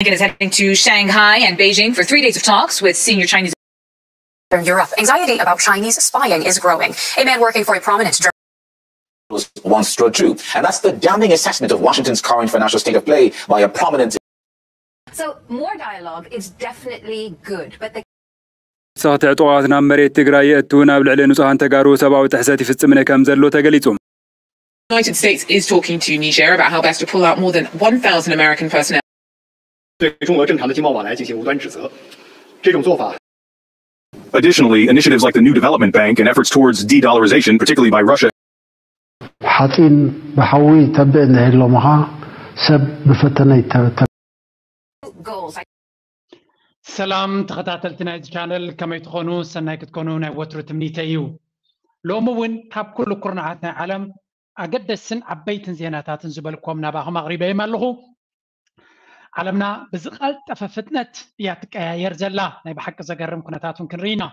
Blinken is heading to Shanghai and Beijing for three days of talks with senior Chinese. From Europe, anxiety about Chinese spying is growing. A man working for a prominent Journalist once strode true, and that's the damning assessment of Washington's current financial state of play by a prominent So more dialogue is definitely good, but the ሰኽቲ ዕጡቓት ናብ መሬት ትግራይ የእትውን ኣብ ልዕሊ ንጹሃን ተጋሩ ሰብኣዊ ጥሕሰት ይፍጽምን ከም ዘሎ ተገሊጹ። The United States is talking to Niger about how best to pull out more than one thousand American personnel. 对中俄正常的经贸往来进行无端指责，这种做法 Additionally, initiatives like the New Development Bank and efforts towards de dollarization, particularly by Russia, ሓፂን ብሓዊ ተብዕ እንድሕር ሎምኻ ሰብ ብፈተነ ይተብተብ። Goals. ሰላም ተኸታተልቲ ናይዚ ቻነል፣ ከመይ ትኾኑ? ሰናይ ክትኮኑ ናይ ወትሩ ትምኒተይ እዩ። ሎሚ እውን ካብ ኩሉ ኩርናዓት ናይ ዓለም ኣገደስትን ዓበይትን ዜናታትን ዝበልኩም ናባኹም ኣቕሪበዮም ኣለኹ። ዓለምና ብዝቐልጠፈ ፍጥነት እያ ትቀያየር ዘላ። ናይ ብሓቂ ዘገርም ኩነታት እውን ክንርኢ ኢና።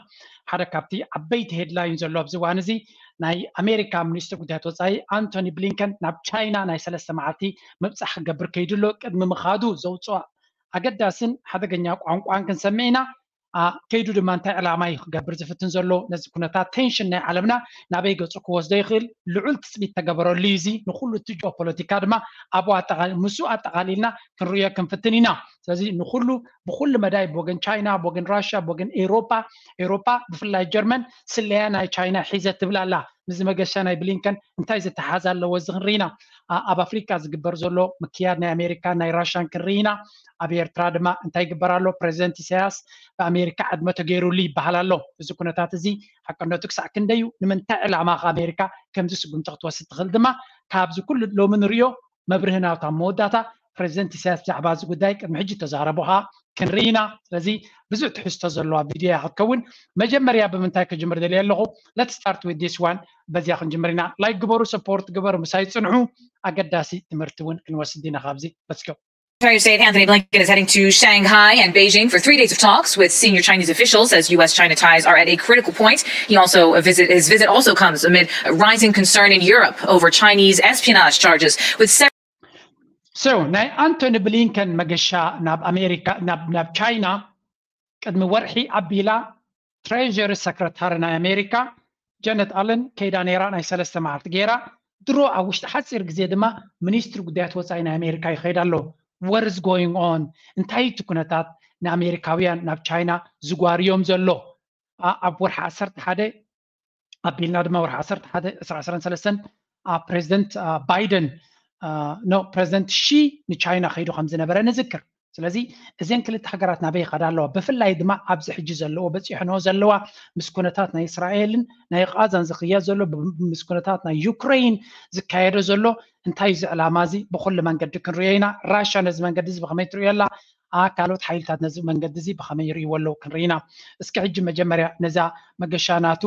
ሓደ ካብቲ ዓበይቲ ሄድላይን ዘሎ ኣብዚ እዋን እዚ፣ ናይ ኣሜሪካ ሚኒስትር ጉዳያት ወፃኢ ኣንቶኒ ብሊንከን ናብ ቻይና ናይ ሰለስተ መዓልቲ ምብፃሕ ክገብር ከይዱ ኣሎ። ቅድሚ ምኻዱ ዘውፅኦ ኣገዳስን ሓደገኛ ቋንቋን ክንሰምዕ ኢና። ከይዱ ድማ እንታይ ዕላማ እዩ ክገብር ዝፍትን ዘሎ? ነዚ ኩነታት ቴንሽን ናይ ዓለምና ናበይ ገፁ ክወስዶ ይኽእል? ልዑል ትፅቢት ተገበረሉ እዩ። እዚ ንኩሉ እቲ ጂኦፖለቲካ ድማ ኣብኡ ኣጠቓሊ-፣ ምስኡ ኣጠቓሊልና ክንርእዮ ክንፍትን ኢና። ስለዚ ንኩሉ ብኩሉ መዳይ ብወገን ቻይና፣ ብወገን ራሽያ፣ ብወገን ኤውሮጳ፣ ኤውሮጳ ብፍላይ ጀርመን ስለያ ናይ ቻይና ሒዘ ትብል ኣላ። ምስዚ መገሻ ናይ ብሊንከን እንታይ ዝተሓሓዝ ኣለዎ? እዚ ክንርኢ ኢና። ኣብ ኣፍሪካ ዝግበር ዘሎ ምክያድ ናይ ኣሜሪካን ናይ ራሽያን ክንርኢ ኢና። ኣብ ኤርትራ ድማ እንታይ ይግበር ኣሎ? ፕሬዚደንት ኢሳያስ ብኣሜሪካ ዕድመ ተገይሩሉ ይበሃል ኣሎ። እዚ ኩነታት እዚ ሓቀነቱ ክሳዕ ክንደይ እዩ? ንምንታይ ዕላማ ከ ኣሜሪካ ከምዚ ስጉምቲ ክትወስድ ትኽእል? ድማ ካብዚ ኩሉ ሎሚ ንርእዮ መብርሂ ናቱ ኣብ መወዳእታ ፕሬዚደንት ኢሳያስ ብዛዕባ እዚ ጉዳይ ቅድሚ ሕጂ ተዛረቦ ከኣ ክንርኢ ኢና። ስለዚ ብዙሕ ትሕዝቶ ዘለዋ ቪድዮ እያ ክትከውን። መጀመርያ ብምንታይ ክጅምር ደልየ ኣለኹ? Let's start with this one። በዚያ ክንጅምር ኢና። ላይክ ግበሩ፣ ሰፖርት ግበሩ፣ ምሳይ ጽንሑ። ኣገዳሲ ትምህርቲ እውን ክንወስድ ኢና ካብዚ። Let's go. Secretary of State Anthony Blinken is heading to Shanghai and Beijing for three days of talks with senior Chinese officials as U S China ties are at a critical point. He also a visit his visit also comes amid rising concern in Europe over Chinese espionage charges with several So ናይ ኣንቶኒ ብሊንከን መገሻ ናብ ኣሜሪካ ናብ ናብ ቻይና ቅድሚ ወርሒ ኣቢላ ትሬዥሪ ሰክረታሪ ናይ ኣሜሪካ ጀነት ኣለን ከይዳ ነይራ። ናይ ሰለስተ መዓልቲ ገይራ ድሮ ኣብ ውሽጢ ሓፂር ግዜ ድማ ሚኒስትሪ ጉዳያት ወፃኢ ናይ ኣሜሪካ ይኸይድ ኣሎ። What is going on? እንታይ እቲ ኩነታት ንኣሜሪካውያን ናብ ቻይና ዝጓርዮም ዘሎ? ኣብ ወርሒ ዓሰርተ ሓደ ኣቢልና ድማ ወርሒ ዓሰርተ ሓደ ዕስራ ዕስራን ሰለስተን ፕሬዚደንት ባይደን ኖ ፕሬዚደንት ሺ ንቻይና ከይዱ ከም ዝነበረ ንዝክር። ስለዚ እዘን ክልተ ሃገራት ናበይ ይኸዳ ኣለዋ? ብፍላይ ድማ ኣብዚ ሕጂ ዘለዎ በፂሕንኦ ዘለዋ ምስ ኩነታት ናይ እስራኤልን ናይ ቃዛን ዝኽየድ ዘሎ ብ-፣ ምስ ኩነታት ናይ ዩክሬን ዝካየዶ ዘሎ እንታይ እዚ ዕላማ እዚ ብኩሉ መንገዲ ክንሪኦ ኢና። ራሻ ነዚ መንገዲ እዚ ብኸመይ ትሪኦ ኣላ? ካልኦት ሓይልታት ነዚ መንገዲ እዚ ብኸመይ ይርእይዎ ኣለዉ ክንርኢ ኢና። እስኪ ሕጂ መጀመርያ ነዛ መገሻ ናቱ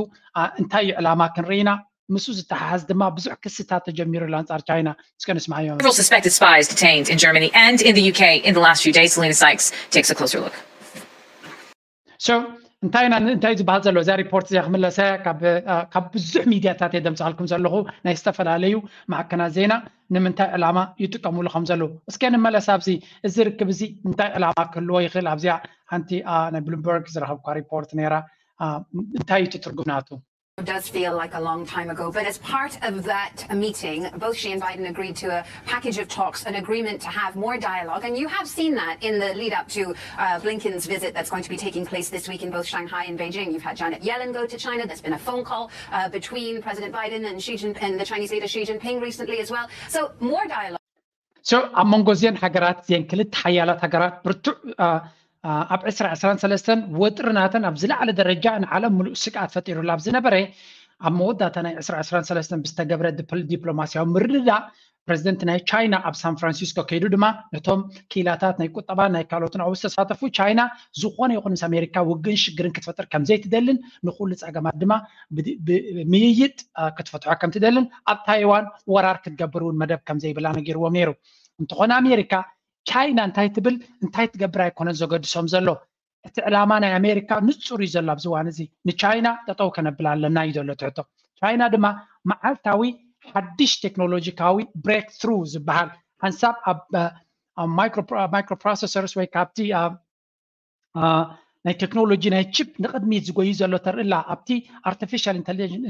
እንታይ እዩ ዕላማ ክንርኢ ኢና። ምስኡ ዝተሓሓዝ ድማ ብዙሕ ክስታት ተጀሚሩ ኣሎ ኣንጻር ቻይና። እስከ ንስማዓዮ። Several suspected spies detained in Germany and in the U K in the last few days. Selena Sykes takes a closer look. So እንታይ ኢና እንታይ ዝበሃል ዘሎ እዛ ሪፖርት እዚኣ ክምለሰ ካብ ብዙሕ ሚድያታት እየ ደምፅኣልኩም ዘለኹ ናይ ዝተፈላለዩ ማዕከናት ዜና ንምንታይ ዕላማ ይጥቀምሉ ከም ዘለዉ እስከ ንመለስ ኣብዚ እዚ ርክብ እዚ እንታይ ዕላማ ክህልዎ ይኽእል ኣብዚኣ ሓንቲ ናይ ብሉምበርግ ዝረኸብኳ ሪፖርት ነይራ እንታይ እዩ ትርጉም ናቱ does feel like a long time ago, but as part of that meeting, both Xi and Biden agreed to a package of talks, an agreement to have more dialogue. And you have seen that in the lead up to uh, Blinken's visit that's going to be taking place this week in both Shanghai and Beijing. You've had Janet Yellen go to China. There's been a phone call uh, between President Biden and Xi Jinping, and the Chinese leader Xi Jinping recently as well. So more dialogue. So ኣብ መንጎ እዚአን ሃገራት እዚአን ክልተ ሓያላት ሃገራት ብርቱዕ ኣብ ዕስራ ዕስራን ሰለስተን ወጥሪ ናተን ኣብ ዝለዓለ ደረጃ ንዓለም ሙሉእ ስግኣት ፈጢሩላ ኣብ ዝነበረ ኣብ መወዳእታ ናይ ዕስራ ዕስራን ሰለስተን ብዝተገብረ ዲፕሎማስያዊ ምርድዳእ ፕረዚደንት ናይ ቻይና ኣብ ሳን ፍራንሲስኮ ከይዱ ድማ ነቶም ክኢላታት ናይ ቁጠባ ናይ ካልኦትን ኣብኡ ዝተሳተፉ ቻይና ዝኾነ ይኹን ምስ ኣሜሪካ ውግእን ሽግርን ክትፈጥር ከምዘይትደልን ንኩሉ ፀገማት ድማ ምይይጥ ክትፈትሖ ከምትደልን ኣብ ታይዋን ወራር ክትገብር እውን መደብ ከምዘይብላ ነጊርዎም ነይሩ። እንተኾነ ኣሜሪካ ቻይና እንታይ ትብል እንታይ ትገብር ኣይኮነን ዘገድሶም ዘሎ። እቲ ዕላማ ናይ ኣሜሪካ ንፁር እዩ ዘሎ ኣብዚ እዋን እዚ ንቻይና ጠጠው ከነብል ኣለና እዩ ዘሎ ትሕቶ። ቻይና ድማ መዓልታዊ ሓድሽ ቴክኖሎጂካዊ ብሬክ ትሩ ዝበሃል ሓንሳብ ኣብ microprocessors ወይ ካብቲ ናይ ቴክኖሎጂ ናይ ቺፕ ንቕድሚት ዝጎዩ ዘሎ ተርኢ ኣላ። ኣብቲ ኣርቲፊሻል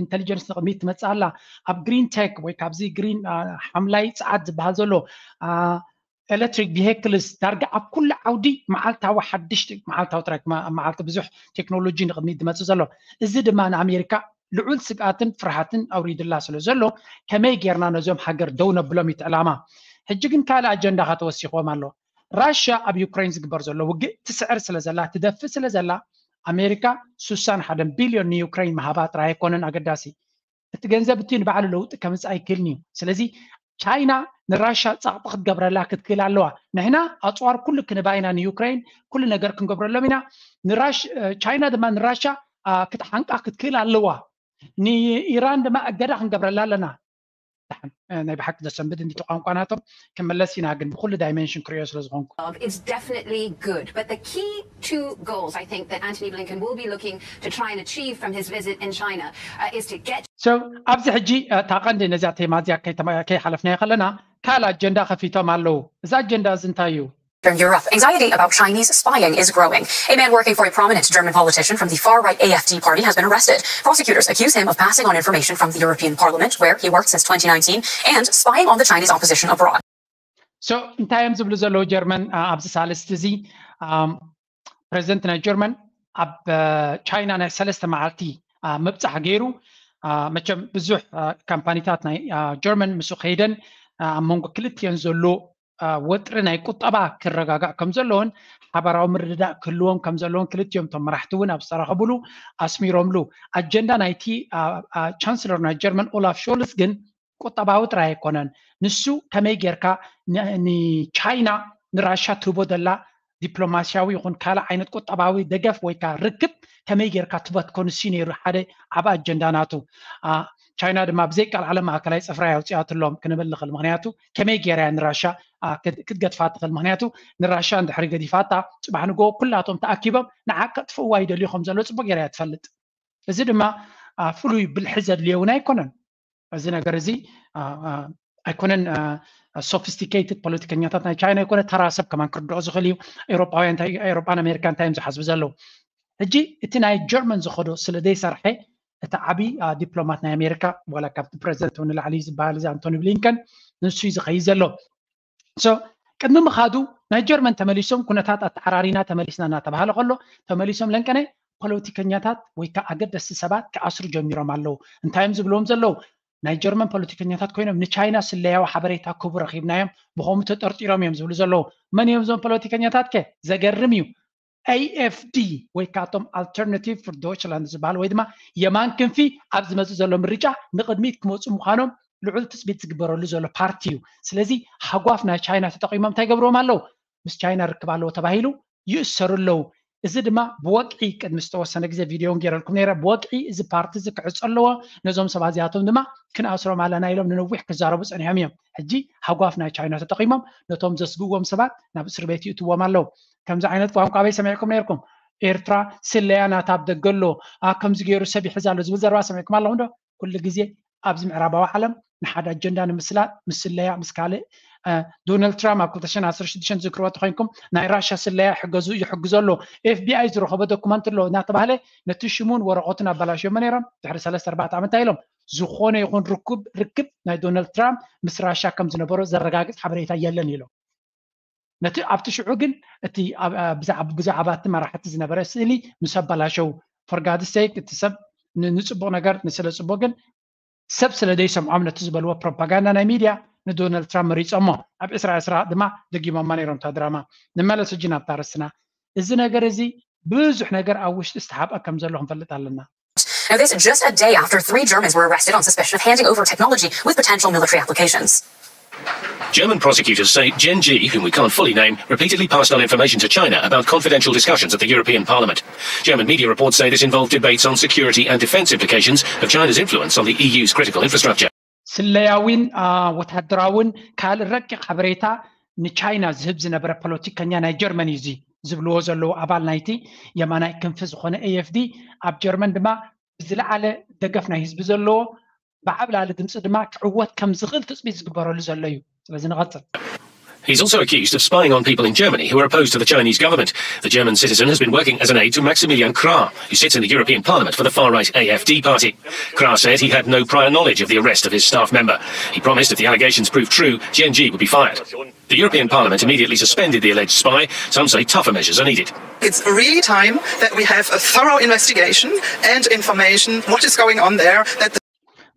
ኢንተሊጀንስ ንቕድሚት ትመፅእ ኣላ። ኣብ ግሪን ቴክ ወይ ካብዚ ግሪን ሓምላይ ፀዓት ዝበሃል ዘሎ ኤሌክትሪክ ቪሄክልስ ዳርጋ ኣብ ኩሉ ዓውዲ መዓልታዊ ሓድሽቲ መዓልታዊ ጥራይ መዓልቲ ብዙሕ ቴክኖሎጂ ንቕድሚት ዝመፅእ ዘሎ። እዚ ድማ ንኣሜሪካ ልዑል ስግኣትን ፍርሃትን ኣውሪድላ ስለ ዘሎ ከመይ ጌርና ነዞም ሃገር ደው ነብሎም እዩ እቲ ዕላማ። ሕጂ ግን ካልእ ኣጀንዳ ከተወሲኽዎም ኣሎ። ራሽያ ኣብ ዩክሬን ዝግበር ዘሎ ውግእ ትስዕር ስለ ዘላ ትደፍእ ስለ ዘላ ኣሜሪካ ስሳን ሓደን ቢልዮን ንዩክሬን ምሃባ ጥራይ ኣይኮነን ኣገዳሲ። እቲ ገንዘብ እቲ ንባዕሉ ለውጢ ከምፅእ ኣይክእልን እዩ። ስለዚ ቻይና ንራሻ ፃቕጢ ክትገብረላ ክትክእል ኣለዋ። ንሕና ኣፅዋር ኩሉ ክንባ ኢና ንዩክሬን ኩሉ ነገር ክንገብረሎም ኢና። ንራሽ ቻይና ድማ ንራሻ ክትሓንቃ ክትክእል ኣለዋ። ንኢራን ድማ እገዳ ክንገብረላ ኣለና። ናይ ብሓቂ ዘሰንብድ እንዲ ቋንቋ ናቶም ክመለስ ኢና ግን ብኩሉ ዳይሜንሽን ክሪኦ ስለ ዝኾንኩ It's definitely good, but the key two goals I think that Antony Blinken will be looking to try and achieve from his visit in China uh, is to get so ኣብዚ ሕጂ እታ ቀንዲ ነዚኣ ቴማ እዚኣ ከይሓለፍናዮ ከለና ካልእ ኣጀንዳ ከፊቶም ኣለዉ። እዚ ኣጀንዳ እዚ እንታይ እዩ? From Europe, anxiety about Chinese spying is growing. A man working for a prominent German politician from the far right A F D party has been arrested. Prosecutors accuse him of passing on information from the European Parliament, where he worked since twenty nineteen, and spying on the Chinese opposition abroad. So እንታይ እዮም ዝብሉ ዘለዉ ጀርመን ኣብዚ ሳልስቲ እዚ ፕሬዚደንት ናይ ጀርመን ኣብ ቻይና ናይ ሰለስተ መዓልቲ ምብፃሕ ገይሩ መቸም ብዙሕ ካምፓኒታት ናይ ጀርመን ምስ ከይደን ኣብ መንጎ ክልቲኦን ዘሎ ወጥሪ ናይ ቁጠባ ክረጋጋእ ከም ዘለዎን ሓበራዊ ምርድዳእ ክህልዎም ከም ዘለዎን ክልቲኦም እቶም መራሕቲ እውን ኣብ ዝተራኸብሉ ኣስሚሮምሉ። ኣጀንዳ ናይቲ ቻንስለር ናይ ጀርመን ኦላፍ ሾልስ ግን ቁጠባዊ ጥራይ ኣይኮነን። ንሱ ከመይ ጌርካ ንቻይና ንራሻ ትህቦ ዘላ ዲፕሎማስያዊ ይኹን ካልእ ዓይነት ቁጠባዊ ደገፍ ወይ ከዓ ርክብ ከመይ ጌርካ ትበትኮ ንሱ ነይሩ ሓደ ዓብ ኣጀንዳ ናቱ። ቻይና ድማ ብዘይ ቃል ዓለም ማእከላይ ፅፍራ ኣውፅኣትሎም ክንብል ንኽእል። ምክንያቱ ከመይ ጌራ እያ ንራሻ ክትገድፋ ትኽእል? ምክንያቱ ንራሻ እንድሕሪ ገዲፋታ ፅባሕ ንጎ ኩላቶም ተኣኪቦም ንዓ ከጥፍእዋ ይደልዩ ከም ዘሎ ፅቡቅ ጌራ እያ ትፈልጥ። እዚ ድማ ፍሉይ ብልሒ ዘድልዮ እውን ኣይኮነን። እዚ ነገር እዚ ኣይኮነን። ሶፊስቲኬትድ ፖለቲከኛታት ናይ ቻይና ኣይኮነ፣ ተራ ሰብ ከማን ክርድኦ ዝኽእል እዩ። ኤውሮጳውያን እንታይ ኤውሮጳን ኣሜሪካ እንታይ እዮም ዝሓስቡ ዘለዉ? ሕጂ እቲ ናይ ጀርመን ዝኸዶ ስለ ዘይሰርሐ እቲ ዓብዪ ዲፕሎማት ናይ ኣሜሪካ ዋላ ካብቲ ፕሬዚደንት እውን ንላዕሊ ዝበሃል እዚ ኣንቶኒ ብሊንከን ንሱ እዩ ዝኸይድ ዘሎ። ሶ ቅድሚ ምኻዱ ናይ ጀርመን ተመሊሶም ኩነታት ኣተዓራሪና ተመሊስና እናተባሃለ ከሎ ተመሊሶም ለንቀነ ፖለቲከኛታት ወይ ከዓ ኣገደስቲ ሰባት ክኣስሩ ጀሚሮም ኣለዉ። እንታይ እዮም ዝብልዎም ዘለዉ? ናይ ጀርመን ፖለቲከኛታት ኮይኖም ንቻይና ስለያዊ ሓበሬታ ክህቡ ረኺብናዮም ብኸምኡ ተጠርጢሮም እዮም ዝብሉ ዘለዉ። መን እዮም እዞም ፖለቲከኛታት ከ? ዘገርም እዩ። A F D ወይ ከዓ እቶም ኣልተርናቲቭ ፍር ዶይችላንድ ዝበሃል ወይ ድማ የማን ክንፊ ኣብ ዝመፅእ ዘሎ ምርጫ ንቕድሚት ክመፁ ምዃኖም ልዑል ትፅቢት ዝግበረሉ ዘሎ ፓርቲ እዩ። ስለዚ ሃጓፍ ናይ ቻይና ተጠቒሞም እንታይ ገብርዎም ኣለዉ? ምስ ቻይና ርክብ ኣለዎ ተባሂሉ ይእሰሩ ኣለዉ። እዚ ድማ ብወግዒ ቅድሚ ዝተወሰነ ግዜ ቪድዮ እውን ገይረልኩም ነይረ። ብወግዒ እዚ ፓርቲ እዚ ክዕፆ ኣለዎ፣ ነዞም ሰባት እዚኣቶም ድማ ክንኣስሮም ኣለና ኢሎም ንነዊሕ ክዛረቡ ፀኒሖም እዮም። ሕጂ ሃጓፍ ናይ ቻይና ተጠቒሞም ነቶም ዘስግዎም ሰባት ናብ እስር ቤት ይእትዎም ኣለዉ። ከምዚ ዓይነት ቋንቋ ኣበይ ሰሚዕኩም ነይርኩም? ኤርትራ ስለያ ናታ ኣብ ደገ ኣሎ፣ ከምዚ ገይሩ ሰብ ይሕዝ ኣሎ ዝብል ዘረባ ሰሚዕኩም ኣለኹም ዶ? ኩሉ ግዜ ኣብዚ ምዕራባዊ ዓለም ንሓደ ኣጀንዳ ንምስላጥ ምስ ስለያ ምስ ካልእ ዶናልድ ትራምፕ ኣብ ክልተ ሽሕን ዓሰርተ ሽዱሽተን ዝዝክርዎ ተኮይንኩም ናይ ራሻ ስለያ ይሕገዙ ይሕግዞ ኣሎ ኤፍቢኣይ ዝረኸቦ ዶኩመንት ኣሎ እናተባህለ ነቲ ሽሙን ወረቐቱን ኣባላሽዮሞ ነይሮም። ድሕሪ ሰለስተ ኣርባዕተ ዓመት እንታይ ኢሎም? ዝኾነ ይኹን ርኩብ ርክብ ናይ ዶናልድ ትራምፕ ምስ ራሻ ከም ዝነበሮ ዘረጋግፅ ሓበሬታ የለን ኢሎም። ነቲ ኣብቲ ሽዑ ግን እቲ ብዛዕባ እቲ መራሕቲ ዝነበረ ስእሊ ምስ ኣባላሸው for God's sake እቲ ሰብ ንፅቡቅ ነገር ንስለ ፅቡቅ ግን ሰብ ስለ ዘይሰምዖም ነቲ ዝበልዎ ፕሮፓጋንዳ ናይ ሚድያ ንዶናልድ ትራምፕ መሪፆሞ ኣብ ዕስራ ዕስራ ድማ ደጊሞማ ነይሮም እታ ድራማ። ንመለስ ሕጂ ናብታ ርስና። እዚ ነገር እዚ ብዙሕ ነገር ኣብ ውሽጢ ዝተሓብአ ከም ዘሎ ክንፈልጥ ኣለና። Now, this just a day after three Germans were arrested on suspicion of handing over technology with potential military applications. German prosecutors say Gen G, whom we can't fully name, repeatedly passed on information to China about confidential discussions at the European Parliament. German media reports say this involved debates on security and defence implications of China's influence on the E U's critical infrastructure. ስለያዊን ወታደራዊን ካልእ ረቂቕ ሓበሬታ ንቻይና ዝህብ ዝነበረ ፖለቲከኛ ናይ ጀርመን እዩ እዚ ዝብልዎ ዘለዉ ኣባል ናይቲ የማናይ ክንፊ ዝኾነ ኤኤፍዲ ኣብ ጀርመን ድማ ብዝለዓለ ደገፍ ናይ ህዝቢ ዘለዎ ብዓብላሊ ድምፂ ድማ ክዕወት ከም ዝኽእል ትፅቢት ዝግበረሉ ዘሎ እዩ። ስለዚ ንቐፅል። He's also accused of spying on people in Germany who are opposed to the Chinese government. The German citizen has been working as an aide to Maximilian Krah, who sits in the European Parliament for the far-right A F D party. Krah said he had no prior knowledge of the arrest of his staff member. He promised if the allegations prove true, Jian Ji would be fired. The European Parliament immediately suspended the alleged spy. Some say tougher measures are needed. It's really time that we have a thorough investigation and information what is going on there. That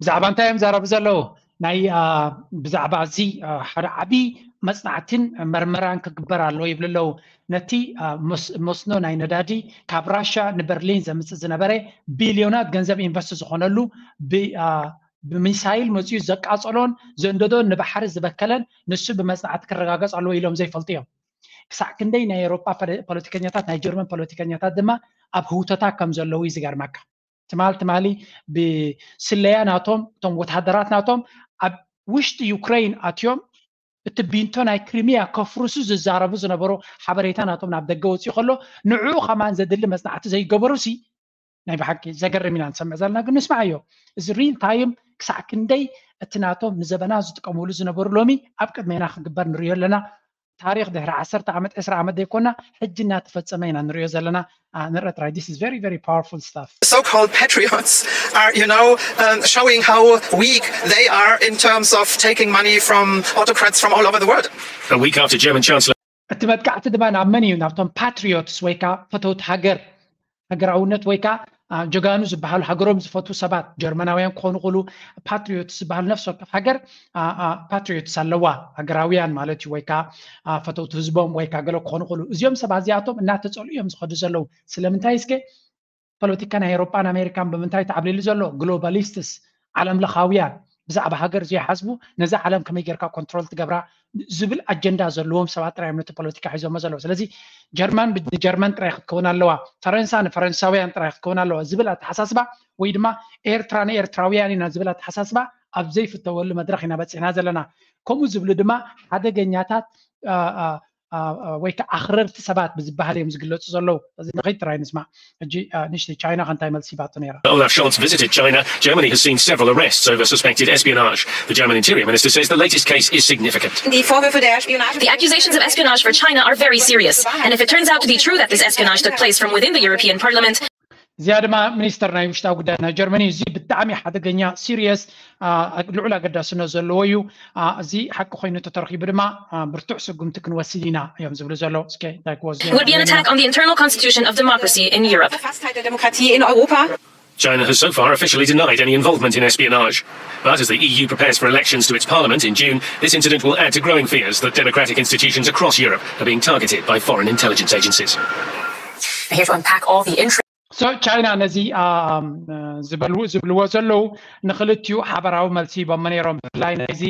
ብዛዕባ እንታይ እዮም ዘረቡ ዘለዉ? ናይ ብዛዕባ እዚ ሓደ ዓብዪ መፅናዕትን መርመራን ክግበር ኣለዎ ይብሉ ኣለዉ። ነቲ መስኖ ናይ ነዳዲ ካብ ራሻ ንበርሊን ዘምፅእ ዝነበረ ቢልዮናት ገንዘብ ኢንቨስት ዝኾነሉ ብሚሳይል መፅኡ ዘቃፀሎን ዘንደዶን ንባሕሪ ዝበከለን ንሱ ብመፅናዕቲ ክረጋገፅ ኣለዎ ኢሎም ዘይፈልጡ እዮም። ክሳዕ ክንደይ ናይ ኤውሮጳ ፖለቲከኛታት ናይ ጀርመን ፖለቲከኛታት ድማ ኣብ ህውተታ ከም ዘለዉ እዩ ዝገርመካ። ትማል ትማሊ ብስለያ ናቶም እቶም ወታደራት ናቶም ኣብ ውሽጢ ዩክሬን ኣትዮም እቲ ቢንቶ ናይ ክሪሚያ ከፍርሱ ዝዛረቡ ዝነበሩ ሓበሬታ ናቶም ናብ ደገ ወፅኡ ከሎ ንዕኡ ከማን ዘድሊ መፅናዕቲ ዘይገበሩ ሲ ናይ ብሓቂ ዘገርም ኢና ንሰምዕ ዘለና። ግን ንስማዓዮ፣ እዚ ሪል ታይም ክሳዕ ክንደይ እቲ ናቶም ንዘበና ዝጥቀምሉ ዝነበሩ ሎሚ ኣብ ቅድሜና ክግበር ንሪኦ ኣለና። ታሪክ ድሕሪ ዓሰርተ ዓመት ዕስራ ዓመት ዘይኮና ሕጂ እናተፈፀመ ኢና ንሪኦ ዘለና። ንረ ጥራይ this is very very powerful stuff. So-called patriots are, you know, um, showing how weak they are in terms of taking money from autocrats from all over the world. A week after German Chancellor እቲ መጥቃዕቲ ድማ ናብ መን እዩ? ናብቶም ፓትሪዮትስ ወይ ከዓ ፈተውቲ ሃገር፣ ሃገራውነት ወይ ከዓ ጀጋኑ ዝበሃሉ ሃገሮም ዝፈትዉ ሰባት ጀርመናውያን ክኾኑ ክእሉ። ፓትሪዮትስ ዝበሃሉ ነፍሲ ወከፍ ሃገር ፓትሪዮትስ ኣለዋ፣ ሃገራውያን ማለት እዩ፣ ወይ ከዓ ፈተውቲ ህዝቦም ወይ ከዓ ገለ ክኾኑ ክእሉ። እዚኦም ሰባት እዚኣቶም እናተፀልኡ እዮም ዝኸዱ ዘለዉ። ስለምንታይ እስከ ፖለቲካ ናይ ኤውሮጳን ኣሜሪካን ብምንታይ ተዓብሊሉ ዘሎ? ግሎባሊስትስ፣ ዓለም ለኻውያን፣ ብዛዕባ ሃገር ዘይሓስቡ ነዛ ዓለም ከመይ ጌርካ ኮንትሮል ትገብራ ዝብል ኣጀንዳ ዘለዎም ሰባት ጥራይ እዮም ነቲ ፖለቲካ ሒዞሞ ዘለዉ። ስለዚ ጀርመን ንጀርመን ጥራይ ክትከውን ኣለዋ፣ ፈረንሳ ንፈረንሳውያን ጥራይ ክትከውን ኣለዋ ዝብል ኣተሓሳስባ ወይ ድማ ኤርትራ ንኤርትራውያን ኢና ዝብል ኣተሓሳስባ ኣብ ዘይፍተወሉ መድረኽ ኢና በፂሕና ዘለና። ከምኡ ዝብሉ ድማ ሓደገኛታት ወይ ከዓ ኣኽረርቲ ሰባት ብዝበሃል እዮም ዝግለፁ ዘለዉ። እዚ ንኸይድ ጥራይ ንስማዕ። ሕጂ ንእሽተይ ቻይና ከ እንታይ መልሲ ሂባቶ ነይራ? Olaf Scholz visited China. Germany has seen several arrests over suspected espionage. The German Interior Minister says the latest case is significant. Die Vorwürfe der Spionage. The accusations of espionage for China are very serious. And if it turns out to be true that this espionage took place from within the European Parliament, እዚኣ ድማ ሚኒስተር ናይ ውሽጣዊ ጉዳይ ናይ ጀርመኒ፣ እዚ ብጣዕሚ ሓደገኛ ሲሪየስ ልዑል ኣገዳስነት ዘለዎ እዩ። እዚ ሓቂ ኮይኑ ተተረኺቡ ድማ ብርቱዕ ስጉምቲ ክንወስድ ኢና እዮም ዝብሉ ዘለዉ። እስከ እንታይ ክወስዱ እዮም? It would be an attack on the internal constitution of democracy in Europe. Verfasstheit der Demokratie in Europa. China has so far officially denied any involvement in espionage. But as the E U prepares for elections to its parliament in June, this incident will add to growing fears that democratic institutions across Europe are being targeted by foreign intelligence agencies. Here to unpack all the intricacies. So ቻይና ነዚ ዝበልዎ ዘለዉ ንክልቲኡ ሓበራዊ መልሲ ሂቦሞ ነይሮም። ብፍላይ ናይዚ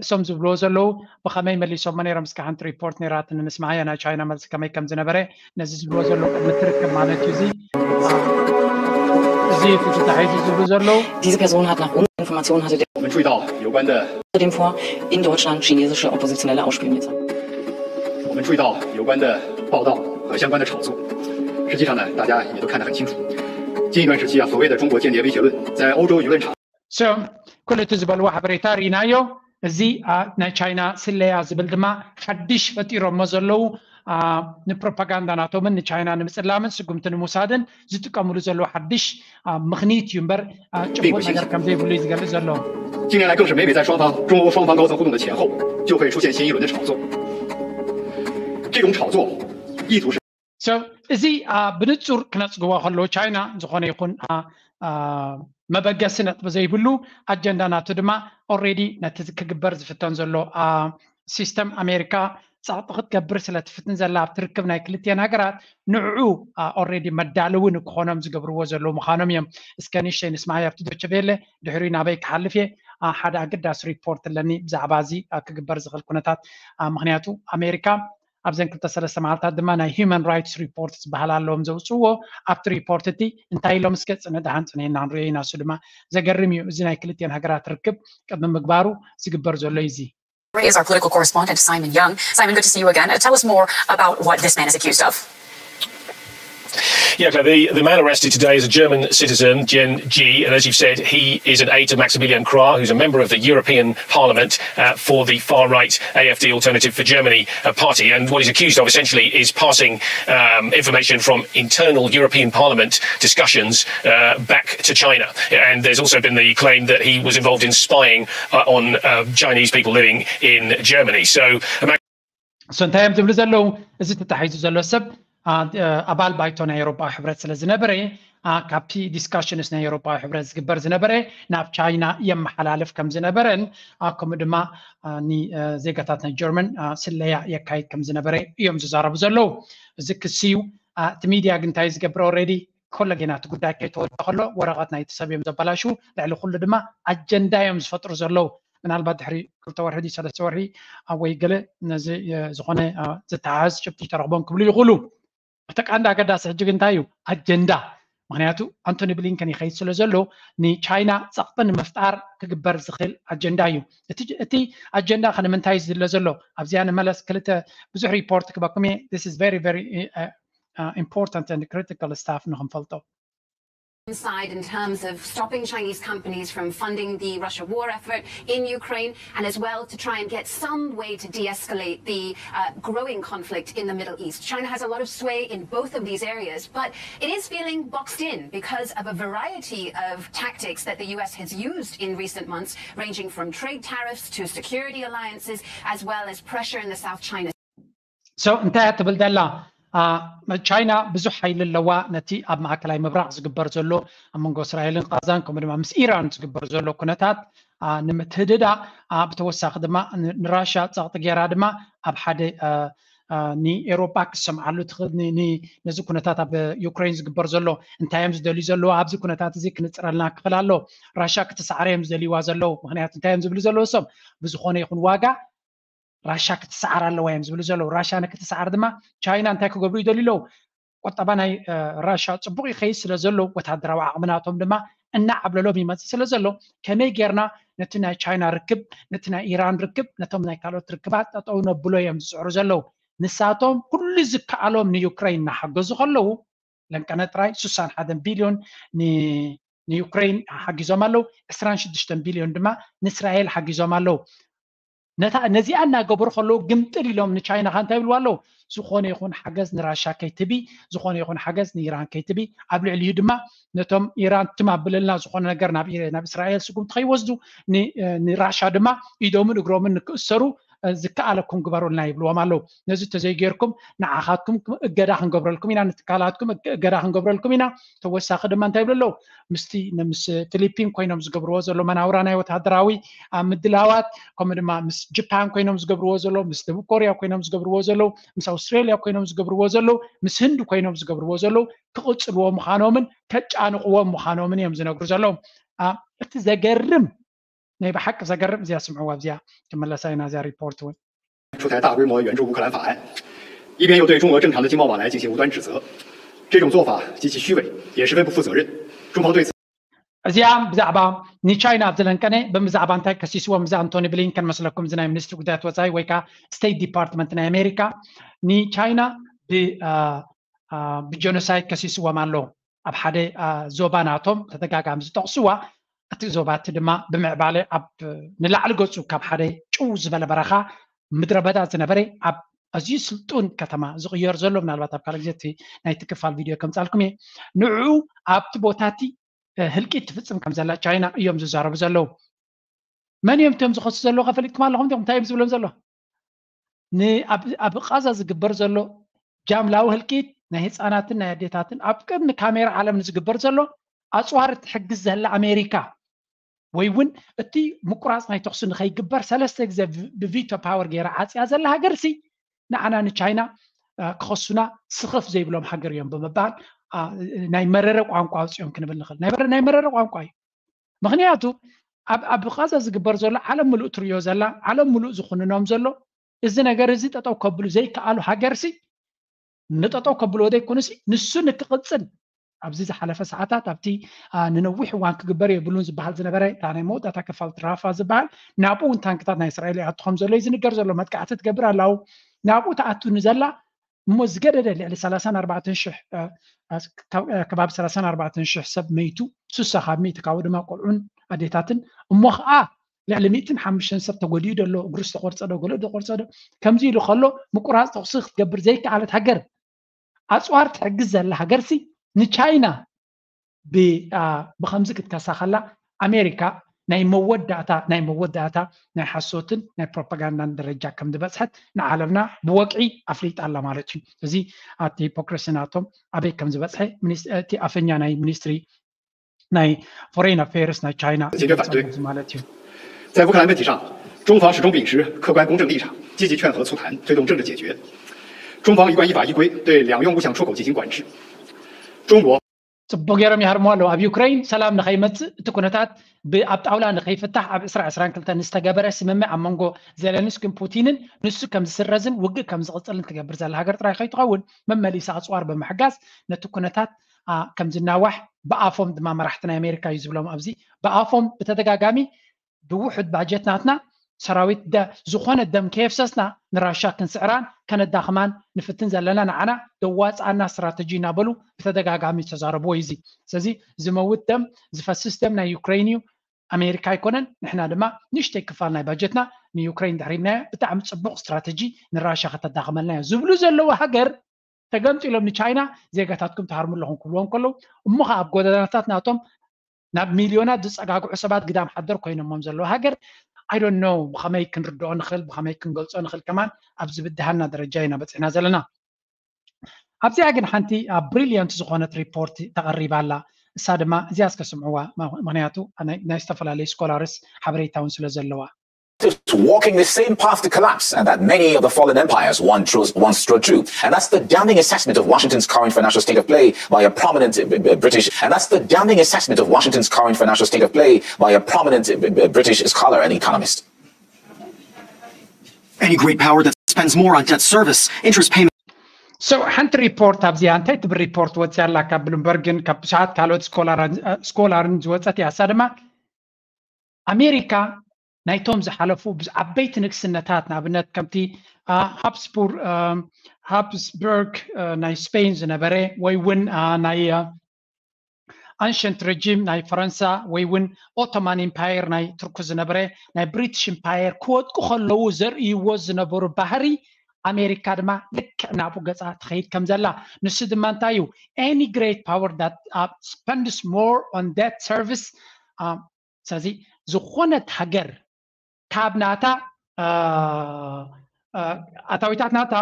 እሶም ዝብልዎ ዘለዉ ብኸመይ መሊሶሞ ነይሮም? እስከ ሓንቲ ሪፖርት ነይራትኒ፣ ንስማዓያ ናይ ቻይና መልሲ ከመይ ከም ዝነበረ። ነዚ ዝብልዎ ዘለዉ ቅድሚ ትርክብ ማለት እዩ። እዚ እዚ ተታሒዙ ዝብሉ ዘለዉ Diese Person hat nach unserer Information hatte der 我们注意到有关的 außerdem vor, in Deutschland chinesische Oppositionelle ausspioniert zu haben. 我们注意到有关的报道和相关的炒作。实际上呢，大家也都看得很清楚。近一段时期啊，所谓的中国间谍威胁论在欧洲舆论场 So ኩሉ እቲ ዝበልዎ ሓበሬታ ርኢናዮ። እዚ ናይ ቻይና ስለያ ዝብል ድማ ሓድሽ ፈጢሮሞ ዘለዉ ንፕሮፓጋንዳ ናቶምን ንቻይና ንምፅላምን ስጉምቲ ንምውሳድን ዝጥቀምሉ ዘለዉ ሓድሽ ምኽኒት እዩ እምበር ጭቡጥ ነገር ከም ዘይብሉ እዩ ዝገልፅ ዘሎ። 近年来更是每每在双方中欧双方高层互动的前后，就会出现新一轮的炒作。这种炒作意图是 So እዚ ብንፁር ክነፅግቦ ከለዉ ቻይና ዝኾነ ይኹን መበገሲ ነጥቢ ዘይብሉ ኣጀንዳ ናቱ ድማ ኦሬዲ ነቲ ክግበር ዝፍተን ዘሎ ሲስተም ኣሜሪካ ፃዕጢ ክትገብር ስለ ትፍትን ዘላ ኣብቲ ርክብ ናይ ክልቲኤን ሃገራት ንዕኡ ኦሬዲ መዳለዊ ንክኾኖም ዝገብርዎ ዘለዉ ምዃኖም እዮም። እስከ ንእሽተይ ንስማዕ ኣብቲ ዶቸ ቬለ ድሕሪ ናበይ ክሓልፍ እየ። ሓደ ኣገዳሲ ሪፖርት ኣለኒ ብዛዕባ እዚ ክግበር ዝኽእል ኩነታት ምክንያቱ ኣሜሪካ ኣብዘን ክልተ ሰለስተ መዓልታት ድማ ናይ ሂማን ራይትስ ሪፖርት ዝበሃል ኣለዎም ዘውፅእዎ ኣብቲ ሪፖርት እቲ እንታይ ኢሎም እስከ ፅነ ደሃን ፅነና ንሪኦ ኢና። እሱ ድማ ዘገርም እዩ። እዚ ናይ ክልቲኤን ሃገራት ርክብ ቅድሚ ምግባሩ ዝግበር ዘሎ እዩ። እዚ Is our political correspondent Simon Young. Simon, good to see you again. Uh, tell us more about what this man is accused of. Yeah, the, the man arrested today is a German citizen, Jen G, and as you've said, he is an aide to Maximilian Krah, who's a member of the European Parliament uh, for the far-right A F D Alternative for Germany uh, party. And what he's accused of essentially is passing um, information from internal European Parliament discussions uh, back to China. And there's also been the claim that he was involved in spying uh, on uh, Chinese people living in Germany. So so እንታይ እዮም ዝብሉ ዘለዉ? እዚ ተታሒዙ ዘሎ ሰብ ኣባል ባይቶ ናይ ኤውሮጳዊ ሕብረት ስለ ዝነበረ፣ ካብቲ ዲስካሽንስ ናይ ኤውሮጳዊ ሕብረት ዝግበር ዝነበረ ናብ ቻይና የመሓላልፍ ከም ዝነበረን፣ ከምኡ ድማ ንዜጋታት ናይ ጀርመን ስለያ የካይድ ከም ዝነበረ እዮም ዝዛረቡ ዘለዉ። እዚ ክሲ እዩ። እቲ ሚድያ ግን እንታይ ዝገብር? ኦልሬዲ ኮለጌና እቲ ጉዳይ ከይተወደ ከሎ ወረቐት ናይቲ ሰብ እዮም ዘበላሹ። ልዕሊ ኩሉ ድማ ኣጀንዳ እዮም ዝፈጥሩ ዘለዉ። ምናልባት ድሕሪ ክልተ ወርሒ ድዩ ሰለስተ ወርሒ ኣብ ወይ ገለ ነዚ ዝኾነ ዝተሓዝ ጭብጢ ተረኽቦም ክብሉ ይኽእሉ። እቲ ቀንዲ ኣገዳሲ ሕጂ ግን እንታይ እዩ? ኣጀንዳ። ምክንያቱ ኣንቶኒ ብሊንከን ይኸይድ ስለ ዘሎ ንቻይና ፀቕጢ ንምፍጣር ክግበር ዝኽእል ኣጀንዳ እዩ። እቲ ኣጀንዳ ከ ንምንታይ ዝድለ ዘሎ? ኣብዚኣ ንመለስ። ክልተ ብዙሕ ሪፖርት ክበኩም እየ። This is very very important and critical stuff ንክንፈልጦ። Side in terms of stopping Chinese companies from funding the Russia war effort in Ukraine, and as well to try and get some way to de escalate the uh, growing conflict in the Middle East. China has a lot of sway in both of these areas, but it is feeling boxed in because of a variety of tactics that the U S has used in recent months, ranging from trade tariffs to security alliances, as well as pressure in the South China So እንታይ እያ ትብል ዘላ? ቻይና ብዙሕ ሓይሊ ኣለዋ። ነቲ ኣብ ማእከላይ ምብራቕ ዝግበር ዘሎ ኣብ መንጎ እስራኤልን ቃዛን ከምኡ ድማ ምስ ኢራን ዝግበር ዘሎ ኩነታት ንምትህድዳ፣ ብተወሳኺ ድማ ንራሻ ጸቕጢ ገይራ ድማ ኣብ ሓደ ንኤውሮጳ ክሰምዓሉ ትኽእል ነዚ ኩነታት ኣብ ዩክሬን ዝግበር ዘሎ እንታይ እዮም ዝደልዩ ዘለዉ? ኣብዚ ኩነታት እዚ ክንጽረልና ክኽእል ኣሎ። ራሻ ክትሰዓረ እዮም ዝደልይዋ ዘለዉ። ምክንያቱ እንታይ እዮም ዝብሉ ዘለዉ? እሶም ብዝኾነ ይኹን ዋጋ ራሻ ክትሰዓር ኣለዋ እዮም ዝብሉ ዘለዉ። ራሻ ንክትሰዓር ድማ ቻይና እንታይ ክገብሩ ይደልዩ ኣለዉ? ቁጠባ ናይ ራሻ ፅቡቅ ይኸይድ ስለ ዘሎ ወታደራዊ ዓቕሚ ናቶም ድማ እናዓብለሎም ይመፅእ ስለ ዘሎ ከመይ ጌርና ነቲ ናይ ቻይና ርክብ ነቲ ናይ ኢራን ርክብ ነቶም ናይ ካልኦት ርክባት ጠጠው ነብሎ እዮም ዝፅዕሩ ዘለዉ። ንሳቶም ኩሉ ዝከኣሎም ንዩክረይን እናሓገዙ ከለዉ ለንቀነ ጥራይ ስሳን ሓደን ቢልዮን ንዩክረይን ሓጊዞም ኣለዉ። ዕስራን ሽዱሽተን ቢልዮን ድማ ንእስራኤል ሓጊዞም ኣለዉ። ነዚኣ እናገበሩ ከለዉ ግምጥል ኢሎም ንቻይና ከ እንታይ ይብልዋ ኣለዉ? ዝኾነ ይኹን ሓገዝ ንራሻ ከይትቢ፣ ዝኾነ ይኹን ሓገዝ ንኢራን ከይትቢ፣ ኣብ ልዕሊኡ ድማ ነቶም ኢራን ትም ኣብለልና ዝኾነ ነገር ናብ እስራኤል ስጉምቲ ከይወስዱ ንራሻ ድማ ኢዶምን እግሮምን ንክእሰሩ ዝከኣለኩም ግበሩልና ይብልዎም ኣለዉ። ነዚ ተዘይጌርኩም ንዓኻትኩም እገዳ ክንገብረልኩም ኢና፣ ንትካላትኩም እገዳ ክንገብረልኩም ኢና። ተወሳኺ ድማ እንታይ ይብሉ ኣለዉ? ምስቲ ምስ ፊሊፒን ኮይኖም ዝገብርዎ ዘሎ መናውራ ናይ ወታደራዊ ምድላዋት ከምኡ ድማ ምስ ጅፓን ኮይኖም ዝገብርዎ ዘሎ ምስ ደቡብ ኮርያ ኮይኖም ዝገብርዎ ዘለዉ ምስ ኣውስትራልያ ኮይኖም ዝገብርዎ ዘለዉ ምስ ህንዲ ኮይኖም ዝገብርዎ ዘለዉ ክቕፅልዎ ምዃኖምን ከጫንቕዎም ምዃኖምን እዮም ዝነግሩ ዘለዉ። እቲ ዘገርም ናይ ብሓቂ ዘገርም እዚኣ ስምዕዋ ኣብዚኣ ክመለሳ ኢና እዚኣ ሪፖርት እውን 出台大规模援助乌克兰法案，一边又对中俄正常的经贸往来进行无端指责，这种做法极其虚伪，也十分不负责任。中方对此。 እዚኣ ብዛዕባ ንቻይና ኣብ ዝለንቀነ ብዛዕባ እንታይ ከሲስዎም እዚ ኣንቶኒ ብሊንከን መስለኩም እዚ ናይ ሚኒስትሪ ጉዳያት ወፃኢ ወይ ከዓ ስቴት ዲፓርትመንት ናይ ኣሜሪካ ንቻይና ብጀኖሳይድ ከሲስዎም ኣሎ። ኣብ ሓደ ዞባ ናቶም ተደጋጋሚ ዝጠቕስዋ እቲ ዞባ እቲ ድማ ብምዕባለ ኣብ ንላዕሊ ገፁ ካብ ሓደ ጭው ዝበለ በረኻ ምድረ በዳ ዝነበረ ኣብ ኣዝዩ ስልጡን ከተማ ዝቕየር ዘሎ ምናልባት ኣብ ካልእ ግዜ እቲ ናይቲ ክፋል ቪድዮ ከምፃልኩም እየ። ንዕኡ ኣብቲ ቦታ እቲ ህልቂት ትፍፅም ከም ዘላ ቻይና እዮም ዝዛረቡ ዘለዉ። መን እዮም እቶም ዝኸሱ ዘለዉ ከፈሊጥኩም ኣለኹም ዲኹም እንታይ እዮም ዝብሎም ዘሎ? ኣብ ቃዛ ዝግበር ዘሎ ጃምላዊ ህልቂት ናይ ህፃናትን ናይ ኣዴታትን ኣብ ቅድሚ ካሜራ ዓለም ንዝግበር ዘሎ ኣፅዋር እትሕግዝ ዘላ ኣሜሪካ ወይ እውን እቲ ምቁራፅ ናይ ተኽሲ ንኸይግበር ሰለስተ ግዜ ብቪቶ ፓወር ገይራ ዓፅያ ዘላ ሃገር ሲ ንዓና ንቻይና ክኸሱና ስኽፍ ዘይብሎም ሃገር እዮም ብምባል ናይ መረረ ቋንቋ ኣውፅኦም ክንብል ንኽእል። ናይ መረረ ቋንቋ እዩ። ምክንያቱ ኣብ ቃዛ ዝግበር ዘሎ ዓለም ምሉእ ትሪዮ ዘላ ዓለም ምሉእ ዝኹንኖም ዘሎ እዚ ነገር እዚ ጠጠው ከብሉ ዘይከኣሉ ሃገር ሲ ንጠጠው ከብልዎ ዘይኮኑ ሲ ንሱ ንክቕፅል ኣብዚ ዝሓለፈ ሰዓታት ኣብቲ ንነዊሕ እዋን ክግበር የብሉን ዝበሃል ዝነበረ እታ ናይ መወዳእታ ክፋል ራፋ ዝበሃል ናብኡ እውን ታንክታት ናይ እስራኤል ይኣቱ ከም ዘሎ እዩ ዝንገር ዘሎ። መጥቃዕቲ ትገብር ኣላው ናብኡ ተኣቱ ንዘላ እሞ ዝገደደ ልዕሊ ሰላሳን ኣርባዕተን ሽሕ ከባቢ ሰላሳን ኣርባዕተን ሽሕ ሰብ መይቱ፣ ስሳ ካብ ሚእቲ ካብኡ ድማ ቆልዑን ኣዴታትን፣ እሞ ከዓ ልዕሊ ሚእትን ሓሙሽተን ሰብ ተጎዲኡ ደሎ፣ እግሩ ዝተቆርፀ ዶ ገለ ዝተቆርፀ ዶ ከምዚ ኢሉ ከሎ ምቁራፅ ተኩሲ ክትገብር ዘይከኣለት ሃገር፣ ኣፅዋር ትሕግዝ ዘላ ሃገርሲ ንቻይና ብከምዚ ክትከሳ ከላ ኣሜሪካ ናይ መወዳእታ ናይ መወዳእታ ናይ ሓሶትን ናይ ፕሮፓጋንዳን ደረጃ ከም ዝበፅሐት ንዓለምና ብወግዒ ኣፍሊጣ ኣላ ማለት እዩ። እዚ ኣብቲ ሂፖክሪሲ ናቶም ኣበይ ከም ዝበፅሐ እቲ ኣፈኛ ናይ ሚኒስትሪ ናይ ፎሬን ኣፌርስ ናይ ቻይና ማለት እዩ። 在乌克兰问题上，中方始终秉持客观公正立场，积极劝和促谈，推动政治解决。中方一贯依法依规对两用物项出口进行管制。中国 ፅቡቅ ገይሮም ይሃርሙ ኣለዉ። ኣብ ዩክሬን ሰላም ንኸይመፅእ እቲ ኩነታት ኣብ ጣውላ ንኸይፍታሕ ኣብ ዕስራ ዕስራን ክልተን ዝተገበረ ስምምዕ ኣብ መንጎ ዜለንስኪን ፑቲንን ንሱ ከም ዝስረዝን ውግእ ከም ዝቕፅልን ትገብር ዘላ ሃገር ጥራይ ከይትኸውን መመሊሳ ኣፅዋር ብምሕጋዝ ነቲ ኩነታት ከም ዝናዋሕ ብኣፎም ድማ መራሕቲ ናይ ኣሜሪካ እዩ ዝብሎም። ኣብዚ ብኣፎም ብተደጋጋሚ ብውሑድ ባጀት ናትና ሰራዊት ዝኾነ ደም ከየፍሰስና ንራሻ ክንስዕራን ከነዳኽማን ንፍትን ዘለና ንዓና ደዋፅኣና ስትራተጂ እናበሉ ብተደጋጋሚ ዝተዛረብዎ እዩ። እዚ ስለዚ ዝመውት ደም ዝፈስስ ደም ናይ ዩክሬን እዩ፣ ኣሜሪካ ኣይኮነን። ንሕና ድማ ንእሽተይ ክፋል ናይ ባጀትና ንዩክሬን ድሕሪብናዮ ብጣዕሚ ፅቡቕ ስትራተጂ ንራሻ ከተዳኽመልና እዮ ዝብሉ ዘለዉ ሃገር ተገምጢሎም ንቻይና ዜጋታትኩም ትሃርሙ ኣለኹም ክብልዎም ከለዉ እሞ ከዓ ኣብ ጎደናታት ናቶም ናብ ሚልዮናት ዝፀጋግዑ ሰባት ግዳም ሓደር ኮይኖሞም ዘለዉ ሃገር I don't know ብኸመይ ክንርድኦ ንኽእል ብኸመይ ክንገልፆ ንኽእል ከማን ኣብ ዝብድሃልና ደረጃ ኢና በፂሕና ዘለና። ኣብዚኣ ግን ሓንቲ ኣብ ብሪልያንት ዝኾነት ሪፖርት ተቐሪባ ኣላ። እሳ ድማ እዚኣ እስከ ስምዕዋ፣ ምክንያቱ ናይ ዝተፈላለዩ ስኮላርስ ሓበሬታ እውን ስለ ዘለዋ። Walking the same path to collapse, and that many of the fallen empires once trod too. And that's the damning assessment of Washington's current financial state of play by a prominent British. And that's the damning assessment of Washington's current financial state of play by a prominent British scholar and economist. Any great power that spends more on debt service, interest payments. So ሓንቲ ሪፖርት ኣብዚኣ እንታይ ትብል ሪፖርት ወፅያ ኣላ ካብ ብሉምበርግን ካብ ብዙሓት ካልኦት ስኮላርን ዝወፀት እያ። እሳ ድማ ኣሜሪካ ናይቶም ዝሓለፉ ዓበይቲ ንግስነታት ንኣብነት ከምቲ ሃብስቡር ሃብስበርግ ናይ ስፔን ዝነበረ ወይ እውን ናይ ኣንሸንት ረጂም ናይ ፈረንሳ ወይ እውን ኦቶማን ኢምፓየር ናይ ቱርክ ዝነበረ ናይ ብሪትሽ ኢምፓየር ክወድቁ ከለዉ ዘርእይዎ ዝነበሩ ባህሪ ኣሜሪካ ድማ ልክዕ ናብኡ ገፃ ትኸይድ ከም ዘላ ንሱ ድማ እንታይ እዩ any great power that spends more on debt service ስለዚ ዝኾነት ሃገር ካብ ናታ ኣታዊታት ናታ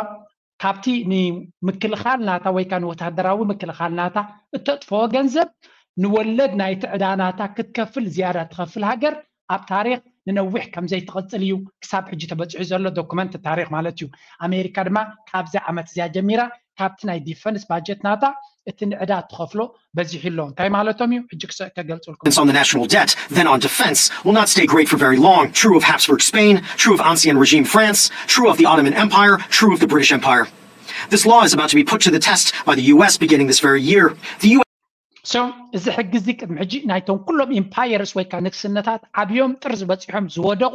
ካብቲ ንምክልኻል ናታ ወይ ከዓ ንወታደራዊ ምክልኻል ናታ እተጥፈኦ ገንዘብ ንወለድ ናይቲ ዕዳ ናታ ክትከፍል ዝያዳ ትኸፍል ሃገር ኣብ ታሪክ ንነዊሕ ከምዘይትቐፅል እዩ ክሳብ ሕጂ ተበፂሑ ዘሎ ዶኩመንት ታሪክ ማለት እዩ። ኣሜሪካ ድማ ካብዚ ዓመት እዚኣ ጀሚራ ካብቲ ናይ ዲፈንስ ባጀት ናታ እቲ ንዕዳ እትኸፍሎ በዚሑ ኣሎ። እንታይ ማለቶም እዩ? ሕጂ ክገልፅልኩም። On the national debt, then on defense, will not stay great for very long. True of Habsburg Spain, true of Ancien Regime France, true of the Ottoman Empire, true of the British Empire. This law is about to be put to the test by the U S beginning this very year. The U S So እዚ ሕጊ እዚ ቅድሚ ሕጂ ናይቶም ኩሎም ኢምፓየርስ ወይ ከዓ ንግስነታት ዓብዮም ጥርዚ በፂሖም ዝወደቑ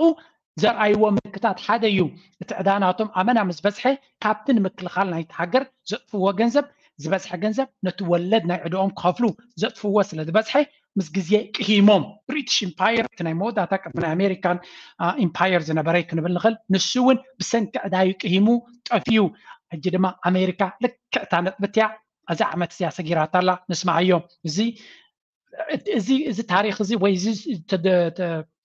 ዘርኣይዎ ምልክታት ሓደ እዩ። እቲ ዕዳ ናቶም ኣመና ምስ በዝሐ ካብቲ ንምክልኻል ናይቲ ሃገር ዘጥፍዎ ገንዘብ ዝበዝሐ ገንዘብ ነቲ ወለድ ናይ ዕድኦም ክኸፍሉ ዘጥፍዎ ስለ ዝበዝሐ ምስ ግዜ ቅሂሞም ብሪትሽ ኢምፓየር እቲ ናይ መወዳእታ ቅድሚ ናይ ኣሜሪካን ኢምፓየር ዝነበረ ክንብል ንኽእል ንሱ እውን ብሰንኪ ዕዳዩ ቅሂሙ ጠፍዩ። ሕጂ ድማ ኣሜሪካ ልክዕታ ነጥብትያ እዛ ዓመት እዚኣ ሰጊራታ ኣላ። ንስማዓዮ እዚ እዚ እዚ ታሪክ እዚ ወይ እዚ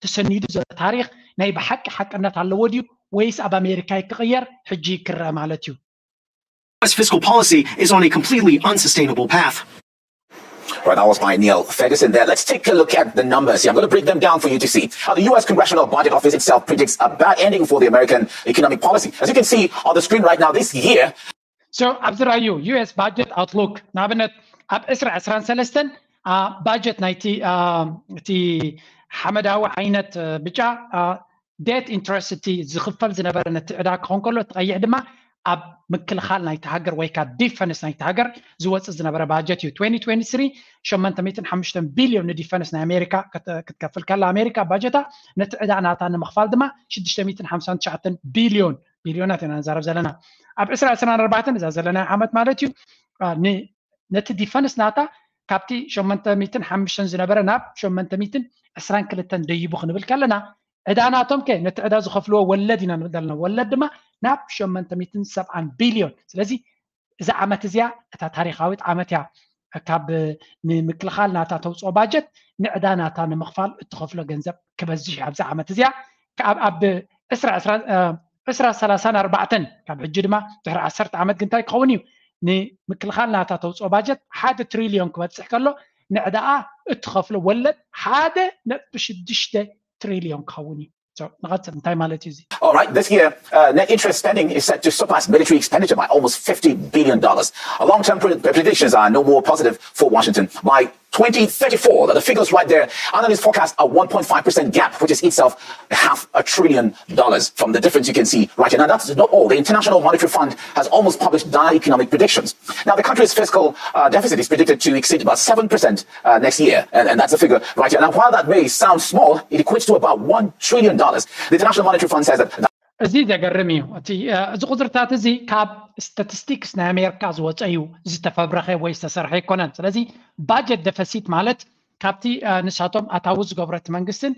ተሰኒዱ ዘሎ ታሪክ ናይ ብሓቂ ሓቅነት ኣለዎ ድዩ ወይስ ኣብ ኣሜሪካ ክቕየር ሕጂ ክረአ ማለት እዩ? U S fiscal policy is on a completely unsustainable path. Right, that was by Neil Ferguson there. Let's take a look at the numbers here. I'm going to break them down for you to see. Uh, the U S Congressional Budget Office itself predicts a bad ending for the American economic policy. As you can see on the screen right now, this year, So ኣብዚ ራዩ U S budget outlook ንኣብነት ኣብ ዕስራ ዕስራን ሰለስተን budget ናይቲ እቲ ሓመዳዊ ዓይነት ብጫ debt interest እቲ ዝኽፈል ዝነበረ ነቲ ዕዳ ክኾን ከሎ እቲ ቀይሕ ድማ ኣብ ምክልኻል ናይቲ ሃገር ወይ ከዓ defense ናይቲ ሃገር ዝወፅእ ዝነበረ budget እዩ። twenty twenty-three ሸሞንተ ሚእትን ሓሙሽተን ቢልዮን ን defense ናይ ኣሜሪካ ክትከፍል ከላ ኣሜሪካ ባጀታ ነቲ ዕዳ ናታ ንምኽፋል ድማ ሽዱሽተ ሚእትን ሓምሳን ትሽዓተን ቢልዮን ቢልዮናት ኢና ንዛረብ ዘለና። ኣብ ዕስራ ዕስራን ኣርባዕተን እዛ ዘለና ዓመት ማለት እዩ፣ ነቲ ዲፈንስ ናታ ካብቲ ሸሞንተ ሚእትን ሓሙሽተን ዝነበረ ናብ ሸሞንተ ሚእትን ዕስራን ክልተን ደይቡ ክንብል ከለና፣ ዕዳ ናቶም ከ ነቲ ዕዳ ዝኸፍልዎ ወለድ ኢና ንብል ዘለና። ወለድ ድማ ናብ ሸሞንተ ሚእትን ሰብዓን ቢልዮን። ስለዚ እዛ ዓመት እዚኣ እታ ታሪኻዊት ዓመት እያ። ካብ ንምክልኻል ናታ ተውፅኦ ባጀት ንዕዳ ናታ ንምኽፋል እትኸፍሎ ገንዘብ ክበዝሕ እዩ። ኣብዚ ዓመት እዚኣ ኣብ ዕስራ ሰላሳን ኣርባዕተን ካብ ሕጂ ድማ ድሕሪ ዓሰርተ ዓመት ግንታይ ክኸውን እዩ? ንምክልኻል ናታ ተውፅኦ ባጀት ሓደ ትሪልዮን ክበፅሕ ከሎ ንዕዳኣ እትኸፍሎ ወለድ ሓደ ነጥቢ ሽዱሽተ ትሪልዮን ክኸውን እዩ። ንቐፅል፣ እንታይ ማለት እዩ እዚ? All right, this year, uh, net interest spending is set to surpass military expenditure by almost fifty billion dollars. Long-term predictions are no more positive for Washington. By twenty thirty-four, the figures right there, analysts forecast a one point five percent gap, which is itself half a trillion dollars from the difference you can see right here. Now, that's not all. The International Monetary Fund has almost published dire economic predictions. Now, the country's fiscal uh, deficit is predicted to exceed about seven percent uh, next year, and, and that's a figure right here. Now, while that may sound small, it equates to about one trillion dollars. The International Monetary Fund says that እዚ ዘገርም እዩ። እቲ እዚ ቁፅርታት እዚ ካብ ስታቲስቲክስ ናይ ኣሜሪካ ዝወፀ እዩ፣ ዝተፈብረኸ ወይ ዝተሰርሐ ኣይኮነን። ስለዚ ባጀት ደፈሲት ማለት ካብቲ ንሳቶም ኣታዊ ዝገብረቲ መንግስትን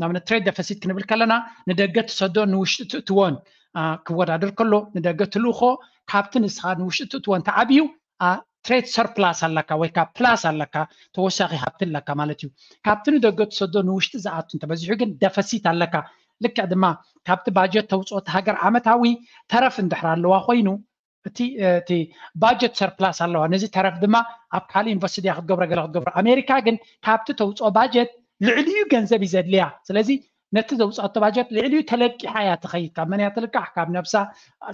ንኣብነት ትሬድ ደፈሲት ክንብል ከለና ንደገ ትሰዶ ንውሽጢ ትእትዎን ክወዳደር ከሎ ንደገ ትልእኮ ካብቲ ንስኻ ንውሽጢ ትእትወን ተዓብዩ ትሬድ ሰርፕላስ ኣለካ ወይ ከዓ ፕላስ ኣለካ፣ ተወሳኺ ሃብቲ ኣለካ ማለት እዩ። ካብቲ ንደገ ትሰዶ ንውሽጢ ዝኣቱ እንተበዚሑ ግን ደፈሲት ኣለካ። ልክዕ ድማ ካብቲ ባጀት ተውፅኦ እቲ ሃገር ዓመታዊ ተረፍ እንድሕር ኣለዋ ኮይኑ እቲ እቲ ባጀት ሰርፕላስ ኣለዋ፣ ነዚ ተረፍ ድማ ኣብ ካልእ ኢንቨስት እያ ክትገብሮ ገለ ክትገብሮ። ኣሜሪካ ግን ካብቲ ተውፅኦ ባጀት ልዕሊኡ ገንዘብ እዩ ዘድልያ። ስለዚ ነቲ ዘውፅኣቶ ባጀት ልዕሊኡ ተለቂሓ እያ ትኸይድ። ካብ መን እያ ትልቃሕ? ካብ ነብሳ።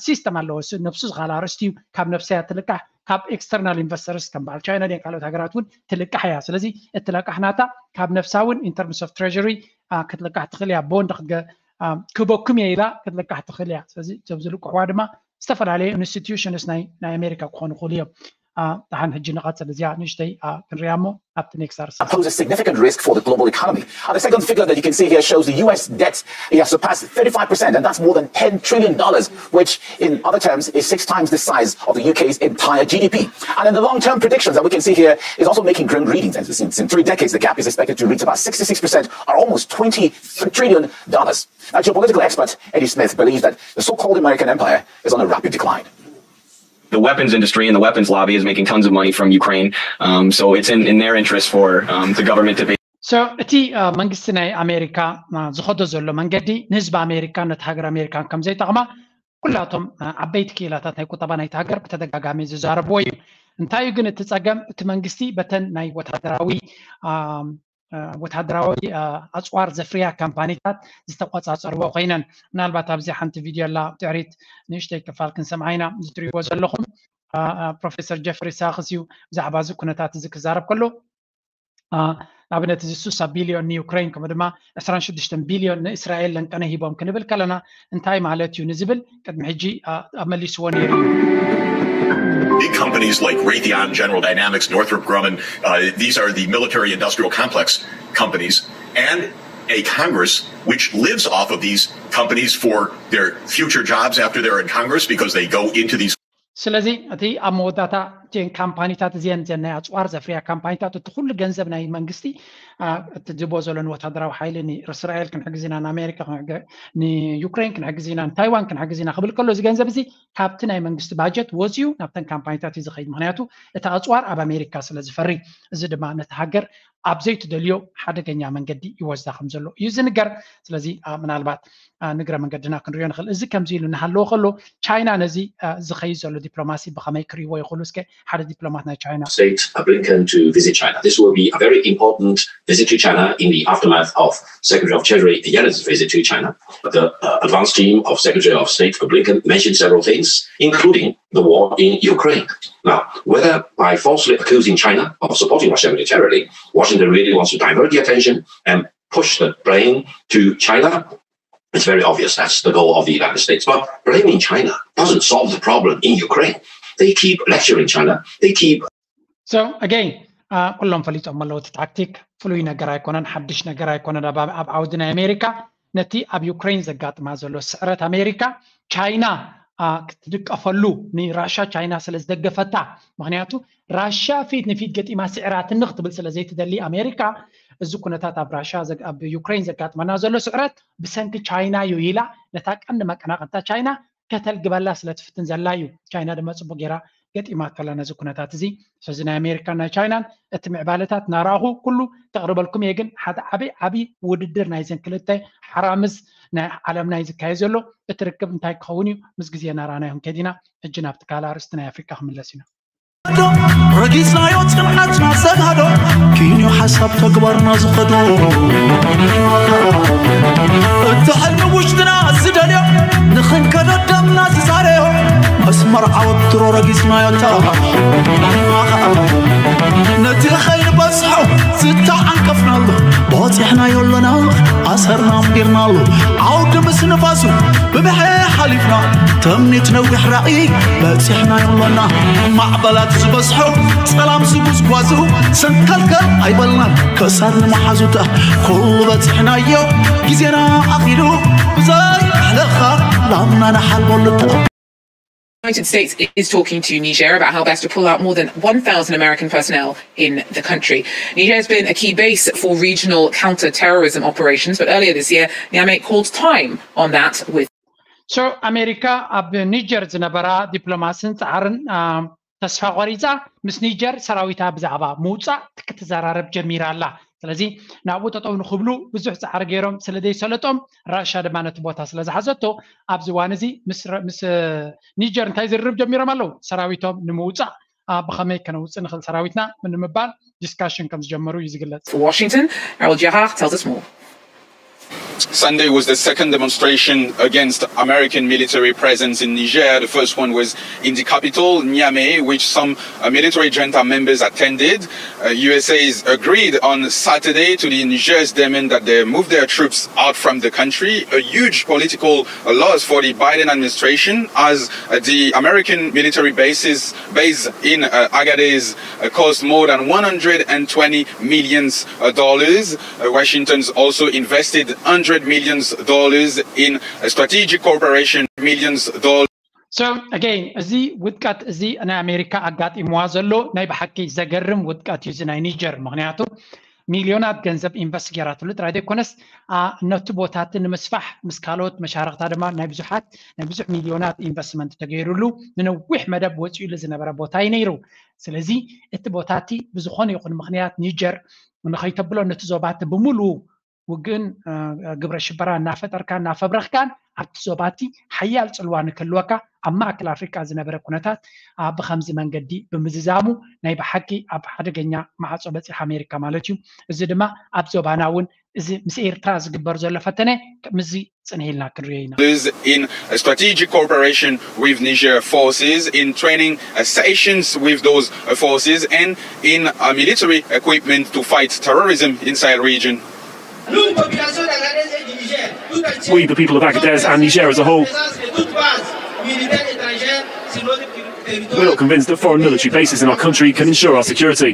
ሲስተም ኣለዎ፣ ነብሱ ዝኻል ኣርእስቲ እዩ። ካብ ነብሳ እያ ትልቃሕ። ካብ ኤክስተርናል ኢንቨስተርስ ከም በዓል ቻይና ድን ካልኦት ሃገራት እውን ትልቃሕ እያ። ስለዚ እቲ ለቃሕ ናታ ካብ ነብሳ እውን ኢንተርምስ ኦፍ ትሬሪ ክትልቃሕ ትኽእል እያ። ቦንድ ክበኩም እየ ኢላ ክትልቃሕ ትኽእል እያ። ስለዚ እዞም ዝልቅሕዋ ድማ ዝተፈላለዩ ኢንስቲትዩሽንስ ናይ ኣሜሪካ ክኾኑ ይኽእሉ እዮም። ደሓን ሕጂ ንቐፅል፣ እዚኣ ንእሽተይ ክንሪኣ እሞ ኣብቲ ኔክስት ኣርስ pose a significant risk for the global economy. And the second figure that you can see here shows the U S debt. It has surpassed thirty-five percent, and that's more than ten trillion dollars, which in other terms is six times the size of the U K's entire G D P. And in the long-term predictions that we can see here is also making grim readings. As we've seen, in three decades, the gap is expected to reach about sixty-six percent, or almost twenty trillion dollars. Now, geopolitical expert Eddie Smith believes that the so-called American empire is on a rapid decline. The weapons industry and the weapons lobby is making tons of money from Ukraine. Um, so it's in, in their interest for um, the government to be. So እቲ መንግስቲ ናይ ኣሜሪካ ዝኸዶ ዘሎ መንገዲ ንህዝቢ ኣሜሪካን ነቲ ሃገር ኣሜሪካን ከም ዘይጠቕማ ኩላቶም ዓበይቲ ክኢላታት ናይ ቁጠባ ናይቲ ሃገር ብተደጋጋሚ ዝዛረብዎ እዩ። እንታይ እዩ ግን እቲ ፀገም? እቲ መንግስቲ በተን ናይ ወታደራዊ ወታደራዊ ኣፅዋር ዘፍርያ ካምፓኒታት ዝተቆፃፀርዎ ኮይነን። ምናልባት ኣብዚ ሓንቲ ቪድዮ ኣላ፣ ድሕሪት ንእሽተይ ክፋል ክንሰምዓ ኢና። እዚ ትሪእዎ ዘለኹም ፕሮፌሰር ጀፍሪ ሳክስ እዩ ብዛዕባ እዚ ኩነታት እዚ ክዛረብ ከሎ ንኣብነት እዚ ስሳ ቢልዮን ንዩክሬን ከምኡ ድማ ዕስራን ሽዱሽተን ቢልዮን ንእስራኤል ለንቀነ ሂቦም ክንብል ከለና እንታይ ማለት እዩ ንዝብል ቅድሚ ሕጂ ኣመሊስዎ ነይሩ እዩ። Big companies like Raytheon, General Dynamics, Northrop Grumman, uh, these are the military industrial complex companies, and a Congress which lives off of these companies for their future jobs after they're in Congress because they go into these ስለዚ እቲ ኣብ መወዳእታ እተን ካምፓኒታት እዚአን እዚአን ናይ ኣፅዋር ዘፍርያ ካምፓኒታት እቲ ኩሉ ገንዘብ ናይ መንግስቲ እቲ ዝቦ ዘሎ ንወታደራዊ ሓይሊ ንእስራኤል ክንሕግዝ ኢና፣ ንኣሜሪካ፣ ንዩክሬን ክንሕግዝ ኢና፣ ንታይዋን ክንሕግዝ ኢና ክብል ከሎ እዚ ገንዘብ እዚ ካብቲ ናይ መንግስቲ ባጀት ወፂኡ ናብተን ካምፓኒታት እዩ ዝኸይድ። ምክንያቱ እቲ ኣፅዋር ኣብ ኣሜሪካ ስለ ዝፈሪ፣ እዚ ድማ ነቲ ሃገር ኣብ ዘይትደልዮ ሓደገኛ መንገዲ ይወስዳ ከም ዘሎ እዩ ዝንገር። ስለዚ ምናልባት ንግረ መንገድና ክንሪኦ ንኽእል። እዚ ከምዚ ኢሉ እናሃለወ ከሎ ቻይና ነዚ ዝኸይድ ዘሎ ዲፕሎማሲ ብኸመይ ክሪእዎ ይኽእሉ? እስከ ሓደ ዲፕሎማት ናይ ቻይና State Blinken to visit China. This will be a very important visit to China in the aftermath of Secretary of Treasury Yellen's visit to China. The uh, advance team of Secretary of State Blinken mentioned several things, including the war in Ukraine. Now, whether by falsely accusing China of supporting Russia militarily, Washington really wants to divert the attention and push the blame to China, it's very obvious that's the goal of the United States. But blaming China doesn't solve the problem in Ukraine. They keep lecturing China. They keep So again, ኩሎም ፈሊጦም ኣለዉ። እቲ ታክቲክ ፍሉይ ነገር ኣይኮነን፣ ሓድሽ ነገር ኣይኮነን ኣብ ዓውዲ ናይ ኣሜሪካ። ነቲ ኣብ ዩክሬን ዘጋጥማ ዘሎ ስዕረት ኣሜሪካ ቻይና ክትድቀፈሉ፣ ንራሻ ቻይና ስለ ዝደገፈታ፣ ምክንያቱ ራሻ ፊት ንፊት ገጢማ ስዕራትኒ ክትብል ስለ ዘይትደሊ ኣሜሪካ፣ እዚ ኩነታት ኣብ ራሻ ኣብ ዩክሬን ዘጋጥመና ዘሎ ስዕረት ብሰንኪ ቻይና እዩ ኢላ ነታ ቀንዲ መቀናቀንታ ቻይና ከተልግበላ ስለ ትፍትን ዘላ እዩ። ቻይና ድማ ጽቡቅ ጌራ ገጢማቶ ኣላ ነዚ ኩነታት እዚ። ስለዚ ናይ ኣሜሪካን ናይ ቻይናን እቲ ምዕባለታት ናራኹ ኩሉ ከቕርበልኩም እየ፣ ግን ሓደ ዓብይ ዓብይ ውድድር ናይዘን ክልተ ሓራምዝ ናይ ዓለምና እዩ ዝካየድ ዘሎ። እቲ ርክብ እንታይ ክኸውን እዩ? ምስ ግዜ ናራናዮም ከዲና። ሕጂ ናብቲ ካልእ ኣርእስቲ ናይ ኣፍሪቃ ክምለስ ኢና። ረጊጽናዮ ጽንዓትና ዘጋዶ፣ ኪንዮ ሓሳብ ተግባርና ዝኸዶ፣ እቲ ሕልሚ ውሽጥና ዝደልዮ፣ ንኽንከዶ ደምና ዝዛረዮ፣ መስመር ዓወት ድሮ ረጊጽናዮ። ነቲ ኸይንበጽሖ ዝተዓንቀፍናሉ፣ በጺሕናዮ ኣለና፣ ኣሰርና ኣንቢርናሉ። ዓውዲ ምስ ንፋሱ ብብሐ ሓሊፍና፣ ተምኒት ነዊሕ ራእይ በጺሕናዮ ኣለና። ማዕበላት ዝበዝሖ ጸላም ዝጉዝጓዙ፣ ሰንከልከል ኣይበልናን ከሳር ንመሓዙታ። ኩሉ በጺሕናዮ ግዜና ኣኺሉ፣ ብዘይ ኣሕለኻ ላምና ንሓልበሉ። The United States is talking to Niger about how best to pull out more than one thousand American personnel in the country. Niger has been a key base for regional counter-terrorism operations, but earlier this year, Niamey called time on that with So ኣሜሪካ ኣብ ኒጀር ዝነበራ ዲፕሎማስን ጻዕርን ተስፋ ቆሪጻ፣ ምስ ኒጀር ሰራዊታ ብዛዕባ ምውጻእ ክትዘራረብ ጀሚራ ኣላ። ስለዚ ናብኡ ጠጠው ንክብሉ ብዙሕ ጻዕሪ ገይሮም ስለ ዘይሰለጦም፣ ራሻ ድማ ነቲ ቦታ ስለ ዝሓዘቶ፣ ኣብዚ እዋን እዚ ምስ ኒጀር እንታይ ዝርርብ ጀሚሮም ኣለዉ? ሰራዊቶም ንምውጻእ ብኸመይ ከነውጽእ ንኽእል ሰራዊትና ንምባል ዲስካሽን ከም ዝጀመሩ እዩ ዝግለጽ። For Washington, Errol Jahar tells us more. Sunday was the second demonstration against American military presence in Niger. The first one was in the capital, Niamey, which some uh, military junta members attended. Uh, U S A is agreed on Saturday to the Niger's demand that they move their troops out from the country, a huge political loss for the Biden administration, as uh, the American military bases base in uh, Agadez uh, cost more than one hundred twenty million dollars. Uh, Washington's also invested one hundred million dollars in uh, strategic cooperation, million dollars. So again, እዚ ውድቀት እዚ ናይ ኣሜሪካ ኣጋጢምዋ ዘሎ ናይ ብሓቂ ዘገርም ውድቀት እዩ። እዚ ናይ ኒጀር፣ ምክንያቱ ሚልዮናት ገንዘብ ኢንቨስት ገይራትሉ ጥራይ ዘይኮነስ፣ ነቲ ቦታቲ ንምስፋሕ ምስ ካልኦት መሻርክታ ድማ ናይ ብዙሓት ናይ ብዙሕ ሚልዮናት ኢንቨስትመንት ተገይሩሉ ንነዊሕ መደብ ወፂኡሉ ዝነበረ ቦታ እዩ ነይሩ። ስለዚ እቲ ቦታቲ ብዝኾነ ይኹን ምክንያት ኒጀር ንኸይተብሎ ነቲ ዞባቲ ብምሉኡ ውግእን ግብረ ሽበራ እናፈጠርካ እናፈብረኽካን ኣብቲ ዞባቲ ሓያል ፅልዋ ንክህልወካ ኣብ ማእከል ኣፍሪቃ ዝነበረ ኩነታት ብኸምዚ መንገዲ ብምዝዛሙ ናይ ብሓቂ ኣብ ሓደገኛ ማዕፆ በፂሓ ኣሜሪካ ማለት እዩ። እዚ ድማ ኣብ ዞባና እውን እዚ ምስ ኤርትራ ዝግበር ዘሎ ፈተነ ምስዚ ፅንህ ኢልና ክንሪኦ ኢና። In strategic cooperation with Niger forces, in training uh, sessions with those uh, forces, and in uh, military equipment to fight terrorism inside region. We, the people of Agadez and Niger as a whole, we're not convinced that foreign military bases in our country can ensure our security.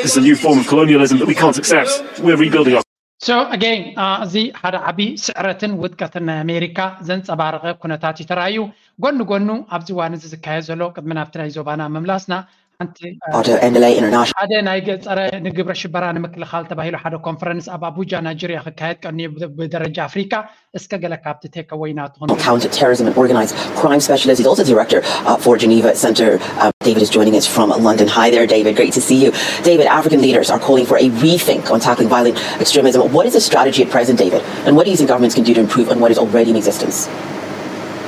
This is a new form of colonialism that we can't accept. We're rebuilding our So again, እዚ ሓደ ዓቢ ስዕረትን ውድቀትን ናይ ኣሜሪካ ዘንጸባረቐ ኩነታት እዩ ተራእዩ። ጎኒ ጎኑ ኣብዚ እዋን እዚ ዝካየድ ዘሎ፣ ቅድሚ ናብቲ ናይ ዞባና ምምላስና፣ ሓንቲ ሓደ ናይ ገጸረ ንግብረ ሽበራ ንምክልኻል ተባሂሉ ሓደ ኮንፈረንስ ኣብ ኣቡጃ ናይጀርያ ክካየድ ቀንዩ ብደረጃ ኣፍሪካ። እስከ ገለ ካብቲ ቴክ ኣወይ ናትኹም። Counter-terrorism and organized crime specialist. He's also director uh, for Geneva Center. Uh, David is joining us from London. Hi there, David. Great to see you. David, African leaders are calling for a rethink on tackling violent extremism. What is the strategy at present, David? And what do you think governments can do to improve on what is already in existence?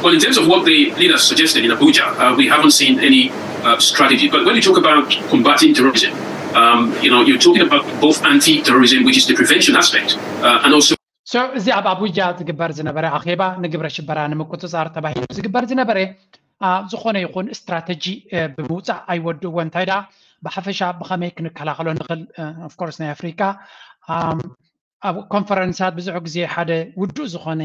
Well, in terms of what the leaders suggested in Abuja, uh, we haven't seen any uh, strategy. But when you talk about combating terrorism, um, you know, you're talking about both anti-terrorism, which is the prevention aspect, uh, and also So እዚ ኣብ ኣቡጃ ዝግበር ዝነበረ ኣኼባ ንግብረ ሽበራ ንምቁፅፃር ተባሂሉ ዝግበር ዝነበረ ዝኾነ ይኹን ስትራተጂ ብምውፃእ ኣይወድእዎ። እንታይ ደኣ ብሓፈሻ ብኸመይ ክንከላኸሎ ንኽእል? ኦፍኮርስ ናይ ኣፍሪካ ኣብ ኮንፈረንሳት ብዙሕ ግዜ ሓደ ውዱእ ዝኾነ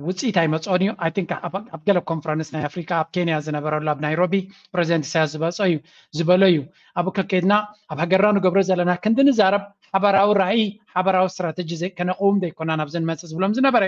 ውፅኢት ኣይመፅኦን እዩ። I think ኣብ ገለ ኮንፈረንስ ናይ ኣፍሪካ ኣብ ኬንያ ዝነበረሉ ኣብ ናይሮቢ ፕሬዚደንት ኢሳያስ ዝበፆ እዩ ዝበሎ እዩ። ኣብኡ ከከድና ኣብ ሃገርና ንገብሮ ዘለና ክንዲ ንዛረብ ሓበራዊ ራእይ ሓበራዊ ስትራተጂ ከነቕውም ዘይኮና ናብዚ ንመፅእ ዝብሎም ዝነበረ፣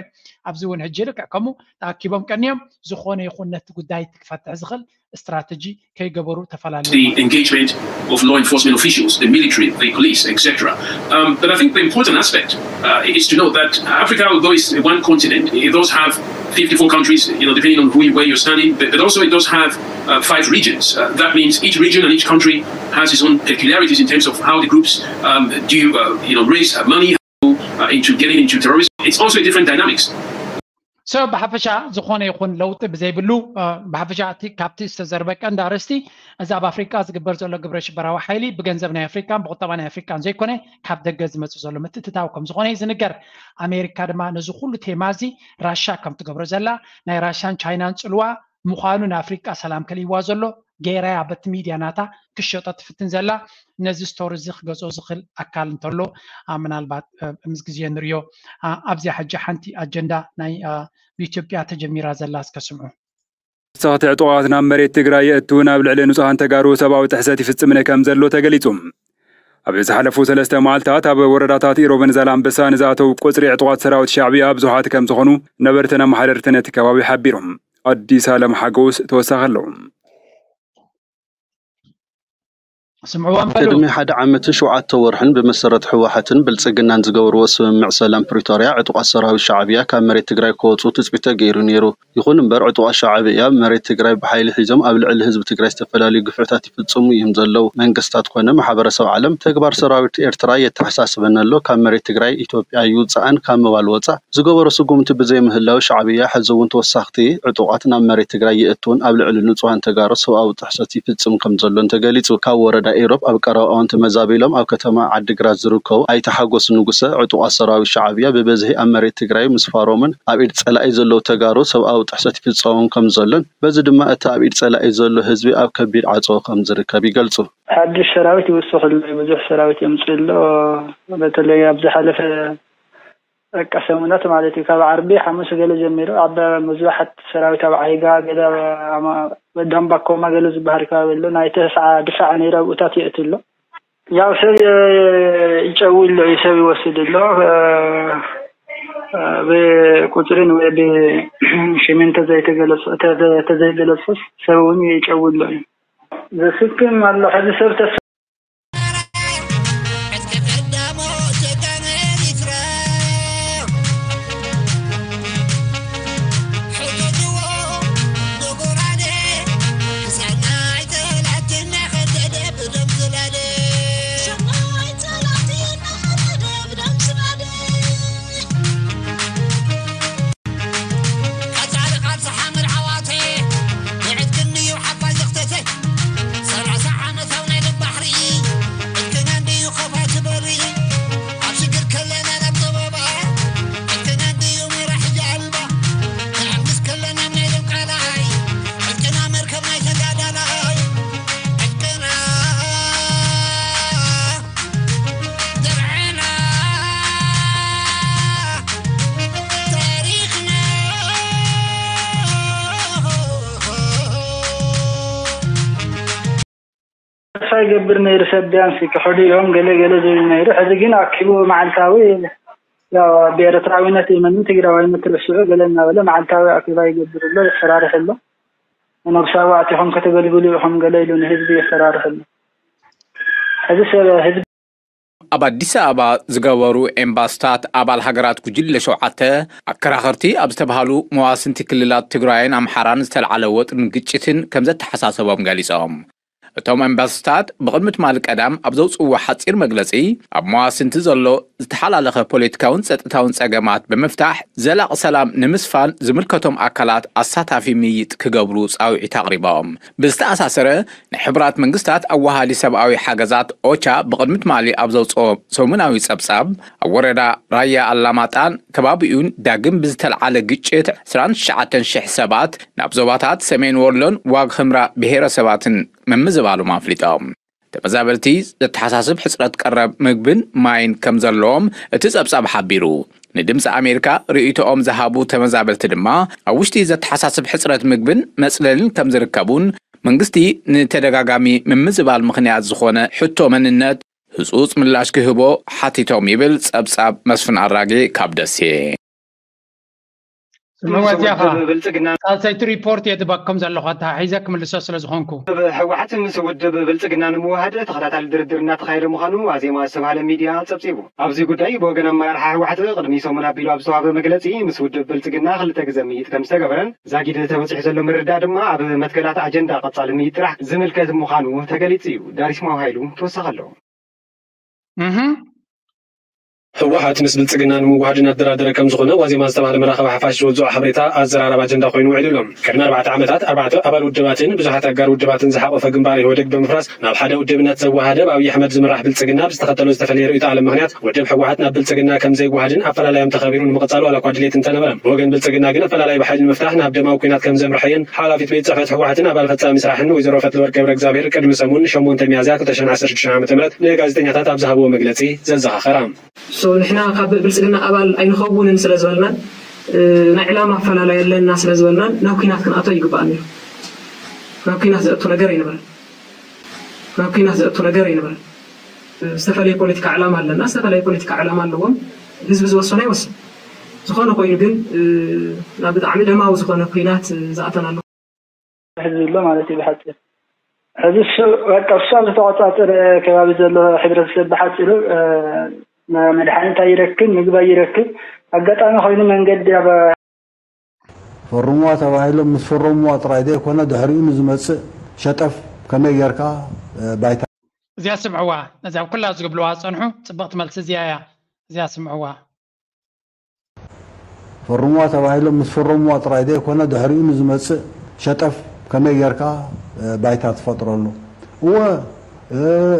ኣብዚ እውን ሕጂ ልክዕ ከምኡ ተኣኪቦም ቀኒዮም ዝኾነ ይኹን ነቲ ጉዳይ ክፈትሕ ዝኽእል ስትራተጂ ከይገበሩ ተፈላለዩ። The engagement of law enforcement officials, the military, the police, et cetera. Um, but I think the important aspect uh, is to know that Africa, although it's one continent, it does have fifty-four countries, you know, depending on who, where you're standing, but, but also it does have uh, five regions. Uh, that means each region and each country has its own peculiarities in terms of how the groups um, do, uh, you know, raise uh, money, how, uh, into getting into terrorism. It's also a different dynamics. So ብሓፈሻ ዝኾነ ይኹን ለውጢ ብዘይብሉ ብሓፈሻ እቲ ካብቲ ዝተዘርበ ቀንዲ ኣርእስቲ እዚ ኣብ ኣፍሪቃ ዝግበር ዘሎ ግብረ ሽበራዊ ሓይሊ ብገንዘብ ናይ ኣፍሪቃን ብቁጠባ ናይ ኣፍሪቃን ዘይኮነ ካብ ደገ ዝመፅእ ዘሎ ምትእትታው ከም ዝኾነ እዩ ዝንገር። ኣሜሪካ ድማ ነዚ ኩሉ ቴማ እዚ ራሻ ከም ትገብሮ ዘላ ናይ ራሻን ቻይናን ፅልዋ ምዃኑ ንኣፍሪቃ ሰላም ከልይዋ ዘሎ ገይራያ በቲ ሚድያ ናታ ክሸጦ ትፍትን ዘላ ነዚ ስቶሪ እዚ ክገዝኦ ዝኽእል ኣካል እንተሎ ምናልባት ምስ ግዜ ንሪኦ ኣብዚኣ ሕጂ ሓንቲ ኣጀንዳ ናይ ብኢትዮጵያ ተጀሚራ ዘላ እስከ ስምዑ። ተወሳኽቲ ዕጡቓት ናብ መሬት ትግራይ የእትውን ኣብ ልዕሊ ንጹሃን ተጋሩ ሰብኣዊ ጥሕሰት ይፍጽምን ከም ዘሎ ተገሊጹ። ኣብ ዝሓለፉ ሰለስተ መዓልታት ኣብ ወረዳታት ኢሮብን ዛላምበሳን ዝኣተው ቁጽሪ ዕጡቓት ሰራዊት ሻዕብያ ብዙሓት ከም ዝኾኑ ነበርትን ኣመሓደርትን እቲ ከባቢ ሓቢሮም። ኣዲስ ኣለም ሓጎስ ተወሳኺ ኣለዎ። ስምዕዎም በሉ። ቅድሚ ሓደ ዓመትን ሸውዓተ ወርሕን ብመሰረት ህወሓትን ብልፅግናን ዝገበርዎ ስምምዕ ሰላም ፕሪቶርያ ዕጡቓት ሰራዊት ሻዕብያ ካብ መሬት ትግራይ ክወፁ ትፅቢት ተገይሩ ነይሩ። ይኹን እምበር ዕጡቓት ሻዕብያ መሬት ትግራይ ብሓይሊ ሒዞም ኣብ ልዕሊ ህዝቢ ትግራይ ዝተፈላለዩ ግፍዕታት ይፍፅሙ እዮም ዘለዉ። መንግስታት ኮነ ማሕበረሰብ ዓለም ተግባር ሰራዊት ኤርትራ የተሓሳስበን ኣሎ። ካብ መሬት ትግራይ ኢትዮጵያ ይውፃእን ካብ ምባል ወፃእ ዝገበሮ ስጉምቲ ብዘይምህላው ሻዕብያ ሕዚ እውን ተወሳኽቲ ዕጡቓት ናብ መሬት ትግራይ የእትውን ኣብ ልዕሊ ንፁሃን ተጋሩ ሰብኣዊ ጥሕሰት ይፍፅም ከም ዘሎን ተገሊፁ። ካብ ወረዳ ኢሮብ ኣብ ቀረባ እዋን ተመዛቢሎም ኣብ ከተማ ዓዲግራት ዝርከቡ ኣይተ ሓጎስ ንጉሰ ዕጡቓት ሰራዊት ሻዕብያ ብበዝሒ ኣብ መሬት ትግራይ ምስፋሮምን ኣብ ኢድ ፀላኢ ዘለዉ ተጋሩ ሰብኣዊ ጥሕሰት ይፍፀሞም ከም ዘሎን በዚ ድማ እቲ ኣብ ኢድ ፀላኢ ዘሎ ህዝቢ ኣብ ከቢድ ዓፀቦ ከም ዝርከብ ይገልፁ። ሓድሽ ሰራዊት ይውስኽ ኣሎ፣ ብዙሕ ሰራዊት የምፅእ ኣሎ። በተለይ ኣብ ዝሓለፈ በቃ ሰሙናት ማለት እዩ። ካብ ዓርቢ ሓሙስ ገለ ጀሚሩ ኣብ ብዙሓት ሰራዊት ኣብ ዓይጋ ገለ ዳምባኮማ ገለ ዝበሃል ከባቢ ኣሎ። ናይ ተስዓ ድፋዕ ነይሩ ኣብኡታት የእቲ ኣሎ። ያው ሰብ ይጨዊ ኣሎ እዩ፣ ሰብ ይወስድ ኣሎ። ብቁፅርን ወይ ብሽምን ተዘይተገለፁ ተዘይገለፁስ ሰብ እውን ይጨዊ ኣሎ እዩ። ዘስክም ኣሎ። ሕዚ ሰብ ተስ ተስፋ ይገብር ነይሩ ሰብ ቢያንስ ክሕዱ እዮም ገለ ገለ ዝብል ነይሩ። ሕዚ ግን ኣኪቡ መዓልታዊ ያው ብኤርትራዊነት ይመንን ትግራዋይነት ርስዑ ገለ እናበለ መዓልታዊ ኣኪባ ይገብር ኣሎ፣ የፈራርሕ ኣሎ። ነብሳዊ ኣቲኹም ከተገልግሉ ኢኹም ገለ ኢሉ ንህዝቢ የፈራርሕ ኣሎ። ሕዚ ሰብ ህዝቢ ኣብ ኣዲስ ኣበባ ዝገበሩ ኤምባስታት ኣባል ሃገራት ጉጅለ ሸውዓተ ኣከራኸርቲ ኣብ ዝተባህሉ መዋስንቲ ክልላት ትግራይን ኣምሓራን ዝተልዓለ ወጥርን ግጭትን ከም ዘተሓሳሰቦም ገሊጾም። እቶም ኤምባስታት ብቕድሚ ትማሊ ቀዳም ኣብ ዘውፅዎ ሓፂር መግለፂ ኣብ መዋስንቲ ዘሎ ዝተሓላለኸ ፖለቲካውን ፀጥታውን ፀገማት ብምፍታሕ ዘላቒ ሰላም ንምስፋን ዝምልከቶም ኣካላት ኣሳታፊ ምይይጥ ክገብሩ ፃውዒት ኣቕሪቦም። ብዝተኣሳሰረ ናይ ሕቡራት መንግስታት ኣዋሃዲ ሰብኣዊ ሓገዛት ኦቻ ብቕድሚ ትማሊ ኣብ ዘውፅኦ ሰሙናዊ ፀብፃብ ኣብ ወረዳ ራያ ኣላማጣን ከባቢኡን ዳግም ብዝተልዓለ ግጭት ዕስራን ትሽዓተን ሽሕ ሰባት ናብ ዞባታት ሰሜን ወሎን ዋግ ህምራ ብሄረሰባትን ምምዝባሎም ኣፍሊጦም። ተመዛበልቲ ዘተሓሳስብ ሕፅረት ቀረብ ምግብን ማይን ከም ዘለዎም እቲ ፀብፃብ ሓቢሩ። ንድምፂ ኣሜሪካ ርእይቶኦም ዝሃቡ ተመዛበልቲ ድማ ኣብ ውሽጢ ዘተሓሳስብ ሕፅረት ምግብን መፅለልን ከም ዝርከቡን መንግስቲ ንተደጋጋሚ ምምዝባል ምኽንያት ዝኾነ ሕቶ መንነት ህፁፅ ምላሽ ክህቦ ሓቲቶም ይብል ፀብፃብ መስፍን ኣራጌ ካብ ደሴ። ስምዕዋ እዚኣ ኸዓ ብልፅግና ሳልሰይቲ ሪፖርት እየ ዝህበኩም ዘለኹ፣ ኣተሓሒዘ ክምልሶ ስለ ዝኾንኩ። ህወሓት ምስ ውድብ ብልፅግና ንምውሃድ ተኸታታሊ ድርድር እናተኻየደ ምዃኑ ዋዜማ ዝተባሃለ ሚድያ ፀብፂቡ። ኣብዚ ጉዳይ ብወገን ኣመራርሓ ህወሓት ቅድሚ ሰሙን ኣቢሉ ኣብ ዝተዋህበ መግለፂ ምስ ውድብ ብልፅግና ክልተ ግዘ ምይይጥ ከም ዝተገበረን ዛጊድ ተበፂሑ ዘሎ ምርድዳእ ድማ ኣብ መትከላት ኣጀንዳ ቀፃሊ ምይይጥ ጥራሕ ዝምልከት ምዃኑ ተገሊፁ እዩ። ዳሪስ ማው ሃይሉ ተወሳኺ ኣለዎ። ህወሓት ምስ ብልፅግና ንምውሃድ እናተደራደረ ከም ዝኾነ ዋዜማ ዝተባህለ መራኸቢ ሓፋሽ ዝወፅኦ ሓበሬታ ኣዘራራቢ ኣጀንዳ ኮይኑ ውዒሉ ኣሎ። ቅድሚ ኣርባዕተ ዓመታት ኣርባዕተ ኣባል ውድባትን ብዙሓት ኣጋር ውድባትን ዝሓቆፈ ግንባር ኢህወደግ ብምፍራስ ናብ ሓደ ውድብነት ዘወሃደ ብኣብይ ኣሕመድ ዝምራሕ ብልፅግና ብዝተኸተሎ ዝተፈለየ ርእይቶ ዓለም ምኽንያት ውድብ ህወሓት ናብ ብልፅግና ከም ዘይወሃድን ኣፈላላዮም ተኸቢሩ ንምቕፃሉ ዋላ እኳ ድሌት እንተነበረ ብወገን ብልፅግና ግን ኣፈላላይ ብሓይሊ ንምፍታሕ ናብ ደማዊ ኲናት ከም ዘምርሐየን ሓላፊት ቤት ፅሕፈት ህወሓትን ኣባል ፈፃሚ ስራሕን ወይዘሮ ፈትለወርቅ ገብረ እግዚኣብሔር ቅድሚ ሰሙን ሸሞንተ ሚያዝያ ክልተ ሽሕን ዓሰርተ ሽዱሽተ ዓመተ ምህረት ንጋዜጠኛታት ኣብ ዝሃብዎ መግለፂ ዘዘኻኸራ። ንሕና ካብ ብልፅግና ኣባል ኣይንኸውንን ስለ ዝበልናን ናይ ዕላማ ኣፈላላይ ኣለና ስለ ዝበልናን ናብ ኲናት ክንኣቶ ይግባእ ነይሩ። ናብ ኲናት ዘእቱ ነገር ኣይነበረን። ናብ ኲናት ዘእቱ ነገር ኣይነበረን። ዝተፈላለየ ፖለቲካ ዕላማ ኣለና፣ ዝተፈላለየ ፖለቲካ ዕላማ ኣለዎም። ህዝቢ ዝወሰኖ ይወስን። ዝኾነ ኮይኑ ግን ናብ ብጣዕሚ ደማዊ ዝኾነ ኲናት ዝኣተናሉ ሕዚ ዘሎ ማለት እዩ ብሓፂር። ሕዚ እሱ በቃ እሱ ኣብ ዝተቆፃፀረ ከባቢ ዘሎ ሕብረተሰብ ብሓፂሩ መድሓኒት ኣይረክብ፣ ምግቢ ኣይረክብ። ኣጋጣሚ ኮይኑ መንገዲ ኣብ ፈርምዋ ተባሂሎም ምስ ፈረምዋ ጥራይ ዘይኮነ ድሕሪኡ ንዝመፅእ ሸጠፍ ከመይ ጌርካ ባይታ እዚኣ ስምዕዋ፣ ነዚኣ ኩላ ዝግብልዋ ዝፀንሑ ፅብቕቲ መልሲ እዚኣ እያ። እዚኣ ስምዕዋ። ፈርምዋ ተባሂሎም ምስ ፈረምዋ ጥራይ ዘይኮነ ድሕሪኡ ንዝመፅእ ሸጠፍ ከመይ ጌርካ ባይታ ትፈጥረሉ። እወ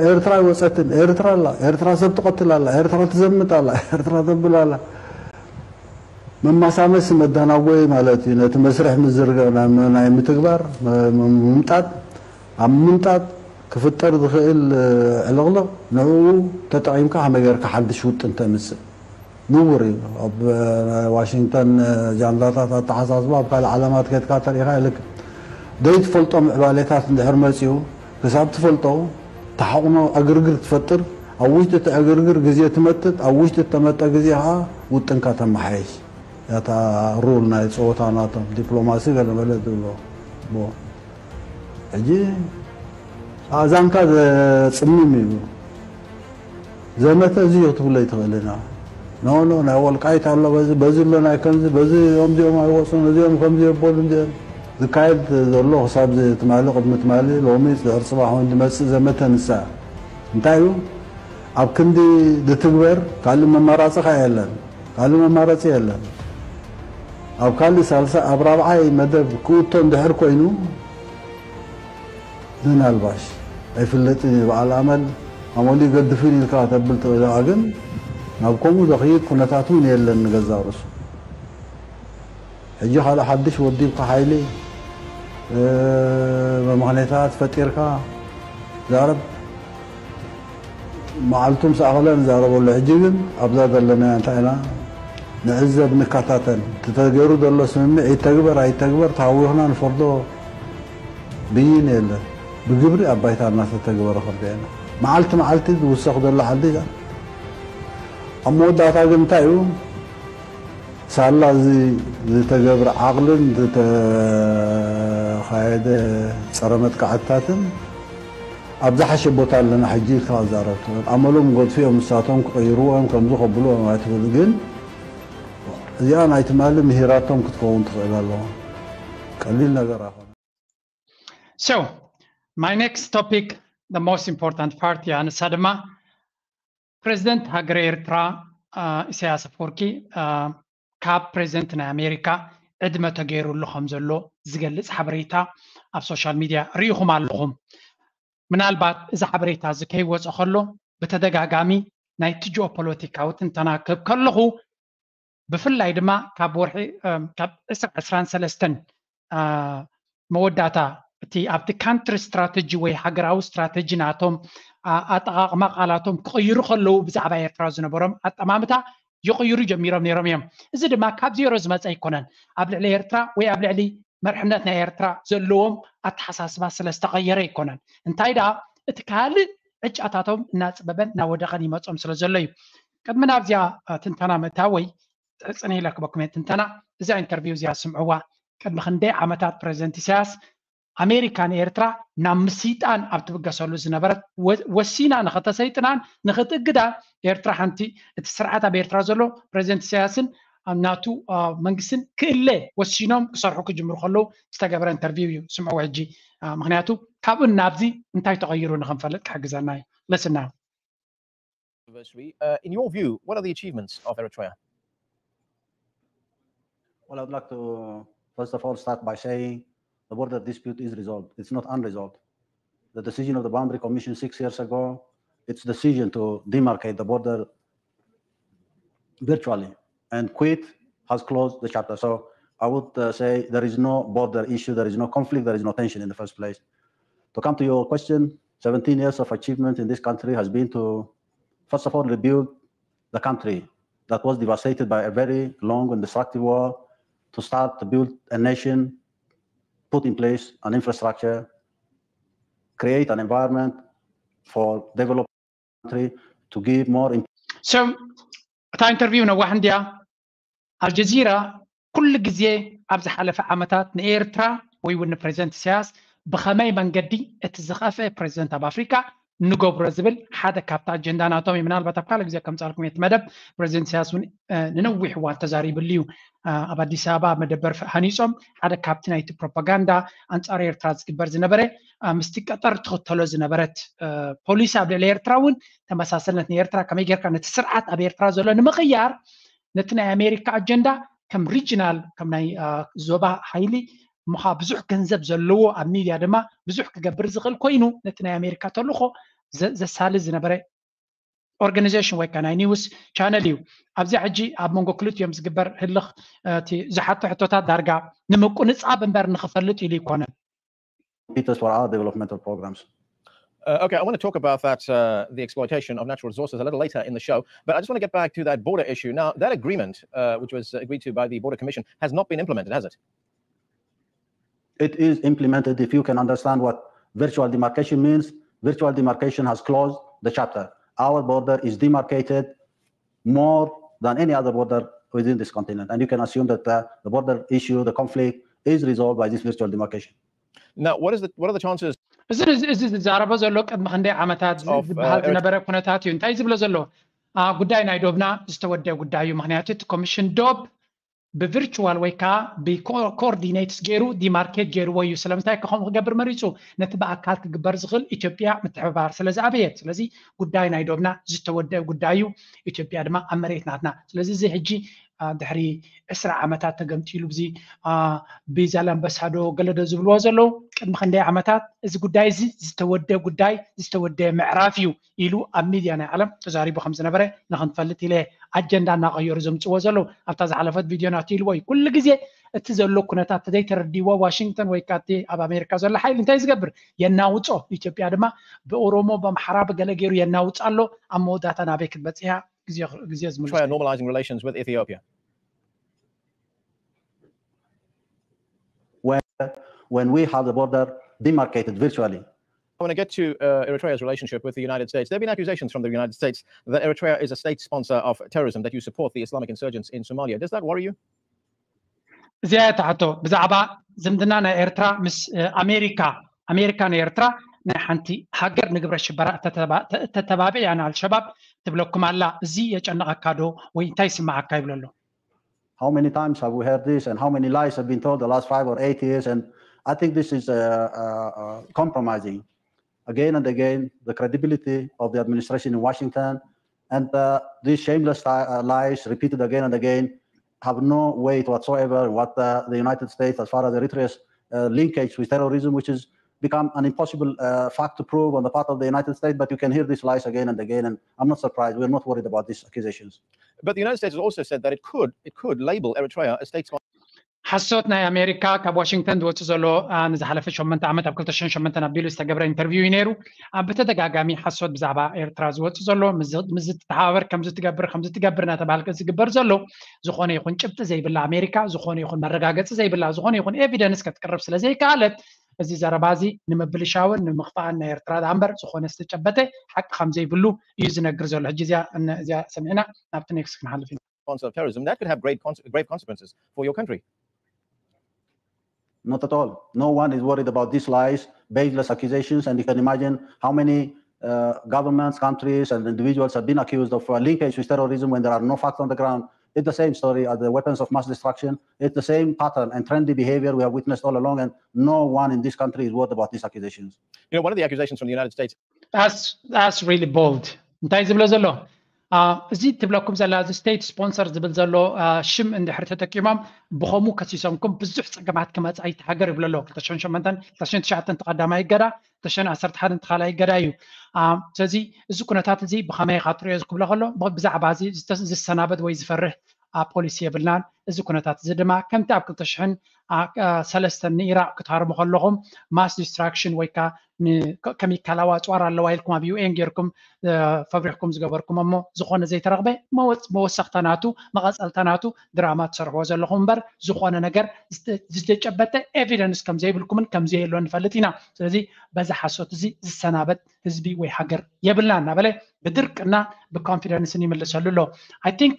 ኤርትራ ኣይወፀትን፣ ኤርትራ ኣላ፣ ኤርትራ ሰብ ትቐትል ኣላ፣ ኤርትራ ትዘምት ኣላ፣ ኤርትራ ተብል ኣላ። መማሳመሲ መዳናጎይ ማለት እዩ። ነቲ መስርሕ ምዝርጋሕ ናይ ምትግባር ምምጣጥ ኣብ ምምጣጥ ክፍጠር ዝኽእል ዕልቕልቕ ንዕኡ ተጠቒምካ ከመይ ጌርካ ሓድሽ ውጥን ተምጽእ ንቡር እዩ። ኣብ ዋሽንግተን ጃንዳታት ኣተሓሳስባ ኣብ ካልእ ዓለማት ከድካ ተሪኢኻ የልክም። ዘይትፈልጦ ምዕባሌታት እንድሕር መጺኡ ክሳብ ትፈልጦ ተሓቕኖ ዕግርግር ትፈጥር። ኣብ ውሽጢ እቲ ዕግርግር ግዜ ትመጥጥ። ኣብ ውሽጢ እተመጠ ግዜ ከዓ ውጥንካ ተመሓየሽ። እታ ሩል ናይ ፀወታ ናቶም ዲፕሎማሲ ገለ መለ ዝብሎ ሕጂ ኣእዛንካ ዘፅምም እዩ። ዘመተ እዚ እዩ ክትብሎ ይትኽእል ኢና። ኖ ኖ ናይ ወልቃይት ኣሎ በዚ በዚ ኣሎ ናይ ከምዚ በዚ እዚኦም እዚኦም ኣይወፁን እዚኦም ከምዚ የበሉ እዚኦም ዝካየድ ዘሎ ክሳብ ትማሊ ቅድሚ ትማሊ ሎሚ ድሕሪ ፅባሕ እውን ዝመፅእ ዘመተ ንሳ እንታይ እዩ? ኣብ ክንዲ ዝትግበር ካልእ መማራፂ ከ የለን። ካልእ መማረፂ የለን። ኣብ ካልእ ሳልሳይ ኣብ ራብዓይ መደብ ክእቶ እንድሕር ኮይኑ ምናልባሽ ኣይፍለጥን እዩ በዓል ኣመል ኣመሉ ይገድፍን ኢልካ ተብል ትኽእል ኢኻ ግን ናብ ከምኡ ዘኽይድ ኩነታት እውን የለን ንገዛእ ርእሱ። ሕጂ ካልእ ሓድሽ ወዲብካ ሓይሊ መምኽኔታት ፈጢርካ ዛረብ መዓልቱ ምስ ኣኸለ ንዛረበሉ። ሕጂ ግን ኣብዛ ዘለና እንታይ ኢና ንዕዘብ ንከታተል። እቲ ተገይሩ ዘሎ ስምምዕ ይተግበር ኣይተግበር ተሃዊኽና ንፈርዶ ብይን የለን። ብግብሪ ኣብ ባይታ እናተተግበረ ክንሪኦ ኢና። መዓልቲ መዓልቲ ዝውሰኽ ዘሎ ሓድሽ ኣብ መወዳእታ ግን እንታይ እዩ ሳላ እዚ ዝተገብረ ዓቕልን ዝተኻየደ ፀረ መጥቃዕትታትን ኣብ ዝሓሸ ቦታ ኣለና ሕጂ ኢልካ ክዛረብ ትኽእል። ኣመሎም ገድፍዮም ንሳቶም ክቕይርዎ እዮም ከምዚ ከብልዎ እዮም ኣይትኽእል። ግን እዚኣ ናይ ትማሊ ምሂራቶም ክትከውን ትኽእል ኣለዋ። ቀሊል ነገር ኣይኮነ። So my next topic, the most important part እያ፣ ንሳ ድማ ፕሬዚደንት ሃገረ ኤርትራ ኢሳያስ ኣፈወርቂ ካብ ፕሬዚደንት ናይ ኣሜሪካ ዕድመ ተገይሩሉ ከም ዘሎ ዝገልጽ ሓበሬታ ኣብ ሶሻል ሚድያ ርኢኹም ኣለኹም። ምናልባት እዚ ሓበሬታ እዚ ከይወፀ ከሎ ብተደጋጋሚ ናይቲ ጂኦፖለቲካዊ ትንተና ክህብ ከለኹ ብፍላይ ድማ ካብ ወርሒ ካብ ዕስራ ዕስራን ሰለስተን መወዳእታ እቲ ኣብቲ ካንትሪ ስትራተጂ ወይ ሃገራዊ ስትራተጂ ናቶም ኣጠቓቕማ ቃላቶም ክቕይሩ ከለዉ ብዛዕባ ኤርትራ ዝነበሮም ኣጠማምታ ይቕይሩ ጀሚሮም ነይሮም እዮም። እዚ ድማ ካብ ዜሮ ዝመፀ ኣይኮነን። ኣብ ልዕሊ ኤርትራ ወይ ኣብ ልዕሊ መርሕነት ናይ ኤርትራ ዘለዎም ኣተሓሳስባ ስለ ዝተቐየረ ኣይኮነን። እንታይ ደኣ እቲ ካልእ ምርጫታቶም እናፅበበን እናወደቐን ይመፆም ስለ ዘሎ እዩ። ቅድሚ ናብዚኣ ትንተና ምእታወይ ፅንሕ ኢለ ክበኩም እየ ትንተና። እዛ ኢንተርቪው እዚኣ ስምዕዋ። ቅድሚ ክንደይ ዓመታት ፕሬዚደንት ኢሳያስ ኣሜሪካ ንኤርትራ ናብ ምስይጣን ኣብ ትብገሰሉ ዝነበረት ወሲና ንኸተሰይጥናን ንኽትእግዳ ኤርትራ ሓንቲ እቲ ስርዓት ኣብ ኤርትራ ዘሎ ፕሬዚደንት ኢሳያስን ናቱ መንግስትን ክእለ ወሲኖም ክሰርሑ ክጅምሩ ከለዉ ዝተገበረ ኢንተርቪው እዩ። ስምዕዎ ሕጂ። ምክንያቱ ካብኡ ናብዚ እንታይ ተቐይሩ ንኽንፈልጥ ክሕግዘና እዩ። ለስና anniversary. Uh, in your view, what are the achievements of Eritrea? Well, I'd like to first of all start by saying the border dispute is resolved. It's not unresolved. The decision of the Boundary Commission six years ago, its decision to demarcate the border virtually and quit has closed the chapter. So I would uh, say there is no border issue, there is no conflict, there is no tension in the first place. To come to your question, seventeen years of achievement in this country has been to, first of all, rebuild the country that was devastated by a very long and destructive war, to start to build a nation, put in place an infrastructure, create an environment for development country, to give more. So እታ ኢንተርቪው ነዋሕ እንድያ። ኣልጀዚራ ኩሉ ግዜ ኣብ ዝሓለፈ ዓመታት ንኤርትራ ወይ እውን ንፕሬዚደንት ኢሳያስ ብኸመይ መንገዲ እቲ ዝኸፍአ ፕሬዚደንት ኣብ ኣፍሪካ ንገብሮ ዝብል ሓደ ካብቲ ኣጀንዳ ናቶም እዩ። ምናልባት ኣብ ካልእ ግዜ ከምፃልኩም እቲ መደብ ፕሬዚደንት ኢሳያስ እውን ንነዊሕ እዋን ተዛሪብሉ እዩ። ኣብ ኣዲስ ኣበባ መደበር ሃኒፆም ሓደ ካብቲ ናይቲ ፕሮፓጋንዳ ኣንፃር ኤርትራ ዝግበር ዝነበረ ምስቲ ቀጠር ትኽተሎ ዝነበረት ፖሊሲ ኣብ ልዕሊ ኤርትራ እውን ተመሳሰልነት ንኤርትራ ከመይ ጌርካ ነቲ ስርዓት ኣብ ኤርትራ ዘሎ ንምቕያር ነቲ ናይ ኣሜሪካ ኣጀንዳ ከም ሪጅናል ከም ናይ ዞባ ሓይሊ ምኻ ብዙሕ ገንዘብ ዘለዎ ኣብ ሚድያ ድማ ብዙሕ ክገብር ዝኽእል ኮይኑ ነቲ ናይ ኣሜሪካ ተልእኾ ዘሳሊ ዝነበረ ኦርጋኒዜሽን ወይ ከዓ ናይ ኒውስ ቻነል እዩ። ኣብዚኣ ሕጂ ኣብ መንጎ ክልቲኦም ዝግበር ህልኽ እቲ ዝሓቶ ሕቶታት ዳርጋ ንምቁንፃብ እምበር ንኽፈልጥ ኢሉ ይኮነን። Peters for our developmental programs. Uh, okay, I want to talk about that, uh, the exploitation of natural resources a little later in the show, but I just want to get back to that border issue. Now, that agreement, uh, which was agreed to by the Border Commission, has not been implemented, has it? It is implemented. If you can understand what virtual demarcation means, virtual demarcation has closed the chapter. Our border is demarcated more than any other border within this continent. And you can assume that uh, the border issue, the conflict, is resolved by this virtual demarcation. Now, what is the what are the chances? እዚ እዚ ዝዛረቦ ዘሎ ቅድሚ ክንደይ ዓመታት ዝበሃል ዝነበረ ኩነታት እዩ። እንታይ ዝብሎ ዘሎ ጉዳይ ናይ ዶብና ዝተወደአ ጉዳይ እዩ። ምክንያቱ እቲ ኮሚሽን ዶብ ብቪርቹዋል ወይ ከዓ ብኮኦርዲኔትስ ገይሩ ዲማርኬት ገይርዎ እዩ። ስለምንታይ ከምኡ ክገብር መሪፁ? ነቲ ብኣካል ክግበር ዝኽእል ኢትዮጵያ ምትሕብባር ስለ ዝኣበየት። ስለዚ ጉዳይ ናይ ዶብና ዝተወደአ ጉዳይ እዩ። ኢትዮጵያ ድማ ኣብ መሬት ናትና። ስለዚ እዚ ሕጂ ድሕሪ ዕስራ ዓመታት ተገምጢሉ ብዚ ብዛላምበሳ ዶ ገለ ዶ ዝብልዎ ዘለዉ ቅድሚ ክንደይ ዓመታት እዚ ጉዳይ እዚ ዝተወደ ጉዳይ ዝተወደ ምዕራፍ እዩ ኢሉ ኣብ ሚድያ ናይ ዓለም ተዛሪቡ ከም ዝነበረ ንክንፈልጥ ኢለ ኣጀንዳ እናቐየሩ ዘምፅዎ ዘለዉ ኣብታ ዝሓለፈት ቪድዮ ናቱ ኢልዎ እዩ። ኩሉ ግዜ እቲ ዘሎ ኩነታት ተዘይተረዲዎ ዋሽንግተን ወይ ካቲ ኣብ ኣሜሪካ ዘሎ ሓይሊ እንታይ ዝገብር የናውፆ። ኢትዮጵያ ድማ ብኦሮሞ ብኣምሓራ ብገለ ገይሩ የናውፅ ኣሎ። ኣብ መወዳእታ ናበይ ክትበፅሕ እያ? ግዜ ግዜ ዝምልስ Eritrea normalizing relations with Ethiopia. Where, when we have the border demarcated virtually. I want to get to uh, Eritrea's relationship with the United States. There have been accusations from the United States that Eritrea is a state sponsor of terrorism, that you support the Islamic insurgents in Somalia. Does that worry you? እዚኣ እያ እታ ሕቶ ብዛዕባ ዝምድና ናይ ኤርትራ ምስ ኣሜሪካ። ኣሜሪካ ንኤርትራ ናይ ሓንቲ ሃገር ንግብረ ሽበራ እተተባብዕ እያ ንኣልሸባብ ትብለኩም ኣላ። እዚ የጨንቐካ ዶ ወይ እንታይ ይስምዓካ ይብሎ ኣሎ። How many times have we heard this and how many lies have been told the last five or eight years? And I think this is uh, uh, uh, compromising again and again the credibility of the administration in Washington. And uh, these shameless uh, lies repeated again and again have no weight whatsoever in what uh, the United States, as far as Eritrea's uh, linkage with terrorism, which has become an impossible uh, fact to prove on the part of the United States, but you can hear these lies again and again, and I'm not surprised. We're not worried about these accusations. But the United States has also said that it could it could label Eritrea a state sponsor. ሓሶት ናይ ኣሜሪካ ካብ ዋሽንግተን ዝወፅእ ዘሎ ንዝሓለፈ ሸመንተ ዓመት ኣብ ክልተ ሽሕን ሸሞንተን ኣቢሉ ዝተገብረ ኢንተርቪው እዩ ነይሩ። ኣብ ብተደጋጋሚ ሓሶት ብዛዕባ ኤርትራ ዝወፅእ ዘሎ ምስ ዝተሓባበር ከምዚ ትገብር ከምዚ ትገብር እናተባሃልከ ዝግበር ዘሎ ዝኾነ ይኹን ጭብጢ ዘይብላ ኣሜሪካ ዝኾነ ይኹን መረጋገፂ ዘይብላ ዝኾነ ይኹን ኤቪደንስ ከትቅርብ ስለ ዘይከኣለት እዚ ዘረባ እዚ ንምብልሻውን ንምኽፋእን ናይ ኤርትራ ደኣ እምበር ዝኾነ ዝተጨበጠ ሓቂ ከም ዘይብሉ እዩ ዝነግር ዘሎ። ሕጂ እዚኣ እዚኣ ሰሚዕና ናብቲ ኔክስት ክንሓልፍ ኢና። Of terrorism, that could have great grave consequences for your country. Not at all. No one is worried about these lies, baseless accusations, and you can imagine how many uh, governments, countries, and individuals have been accused of uh, linkage with terrorism when there are no facts on the ground. It's the same story as the weapons of mass destruction. It's the same pattern and trendy behavior we have witnessed all along, and no one in this country is worried about these accusations. You know, one of the accusations from the United States. That's, that's really bold. እንታይ ዝብሎ ዘሎ? እዚ ትብለኩም ዘላ እዚ state sponsor ዝብል ዘሎ ሽም እንድሕር ተጠቂሞም ብኸምኡ ከሲሶምኩም ብዙሕ ፀገማት ክመፅእ ኣይትሃገር ይብሎ ኣሎ። ክልተ ሽሕን ሸሞንተን፣ ክልተ ሽሕን ትሽዓተን ተቐዳማይ እገዳ፣ ክልተ ሽሕን ዓሰርተ ሓደን ተኻላይ እገዳ እዩ። ስለዚ እዚ ኩነታት እዚ ብኸመይ ኢኻ ትሪኦ ክብሎ ከሎ ብዛዕባ እዚ ዝሰናበት ወይ ዝፈርህ ፖሊሲ የብልናን። እዚ ኩነታት እዚ ድማ ከምቲ ኣብ ክልተ ሽሕን ሰለስተን ንኢራቕ ክትሃርሙ ከለኹም mass destruction ወይ ከዓ ከሚካላዊ ኣፅዋር ኣለዋ ኢልኩም ኣብ ዩ ኤን ጌርኩም ፈብሪኽኩም ዝገበርኩም እሞ ዝኾነ ዘይተረኽበ መወሰኽታ ናቱ መቐፀልታ ናቱ ድራማ ትሰርሕዎ ዘለኹም እምበር ዝኾነ ነገር ዝተጨበጠ evidence ከም ዘይብልኩምን ከም ዘየሎ ንፈልጥ ኢና። ስለዚ በዚ ሓሶት እዚ ዝሰናበት ህዝቢ ወይ ሃገር የብልና እናበለ ብድርቅና ብኮንፊደንስን ይምልሰሉ ኣሎ። I think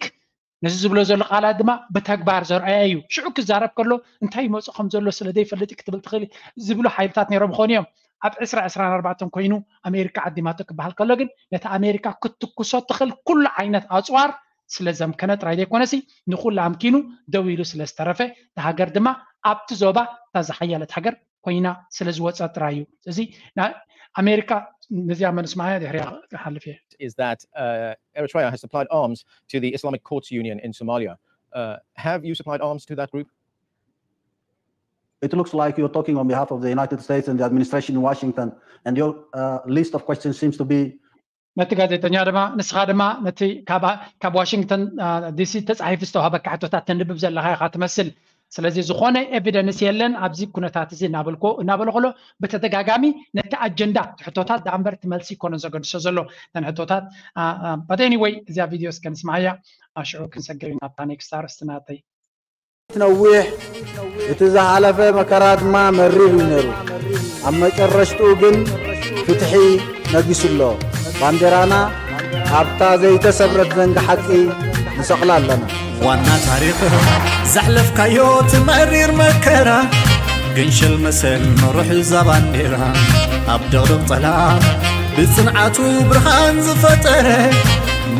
ነዚ ዝብሎ ዘሎ ቃላት ድማ ብተግባር ዘርኣያ እዩ። ሽዑ ክዛረብ ከሎ እንታይ ይመፁ ከም ዘሎ ስለ ዘይፈልጥ ክትብል ትኽእል ዝብሉ ሓይልታት ነይሮም ይኾኑ እዮም። ኣብ ዕስራ ዕስራን ኣርባዕተን ኮይኑ ኣሜሪካ ዓዲማቶ ክበሃል ከሎ ግን ነቲ ኣሜሪካ ክትትኩሶ ትኽእል ኩሉ ዓይነት ኣፅዋር ስለ ዘምከነ ጥራይ ዘይኮነሲ ንኹሉ ኣምኪኑ ደው ኢሉ ስለ ዝተረፈ እታ ሃገር ድማ ኣብቲ ዞባ እታ ዝሓያለት ሃገር ኮይና ስለ ዝወፀ ጥራይ እዩ። እዚ ኣሜሪካ ነዚኣ መንስማያ ድሕሪያ ክሓልፍ እየ። Is that uh, Eritrea has supplied arms to the Islamic Courts Union in Somalia. Uh, have you supplied arms to that group? It looks like you're talking on behalf of the United States and the administration in Washington, and your uh, list of questions seems to be ነቲ ጋዜጠኛ ድማ ንስኻ ድማ ነቲ ካብ ዋሽንግተን ዲሲ ተፃሒፉ ዝተዋሃበካ ሕቶታት ተንብብ ዘለኻ ኢኻ ትመስል። ስለዚ ዝኾነ evidence የለን ኣብዚ ኩነታት እዚ እናበልኮ እናበለ ከሎ ብተደጋጋሚ ነቲ ኣጀንዳ ሕቶታት ደኣ እምበር እቲ መልሲ ይኮነን ዘገድሶ ዘሎ እተን ሕቶታት። But anyway እዚኣ ቪድዮ እስከ ንስማዓያ ሽዑ ክንሰግር ኢና ኣብታ next ኣርእስቲ ናተይ። ነዊሕ እቲ ዝሓለፈ መከራ ድማ መሪር እዩ ነይሩ። ኣብ መጨረሽትኡ ግን ፍትሒ ነጊሱ ኣሎ። ባንዴራና ኣብታ ዘይተሰብረት ዘንጊ ሓቂ ንሰቕላ ኣለና። ዋና ታሪኽ ዘሕለፍካዮ እቲ መሪር መከራ ግን ሽል መሰል መሩሕ እዛ ባንዴራ ኣብ ድቕድቕ ጸላም ብጽንዓቱ ብርሃን ዝፈጠረ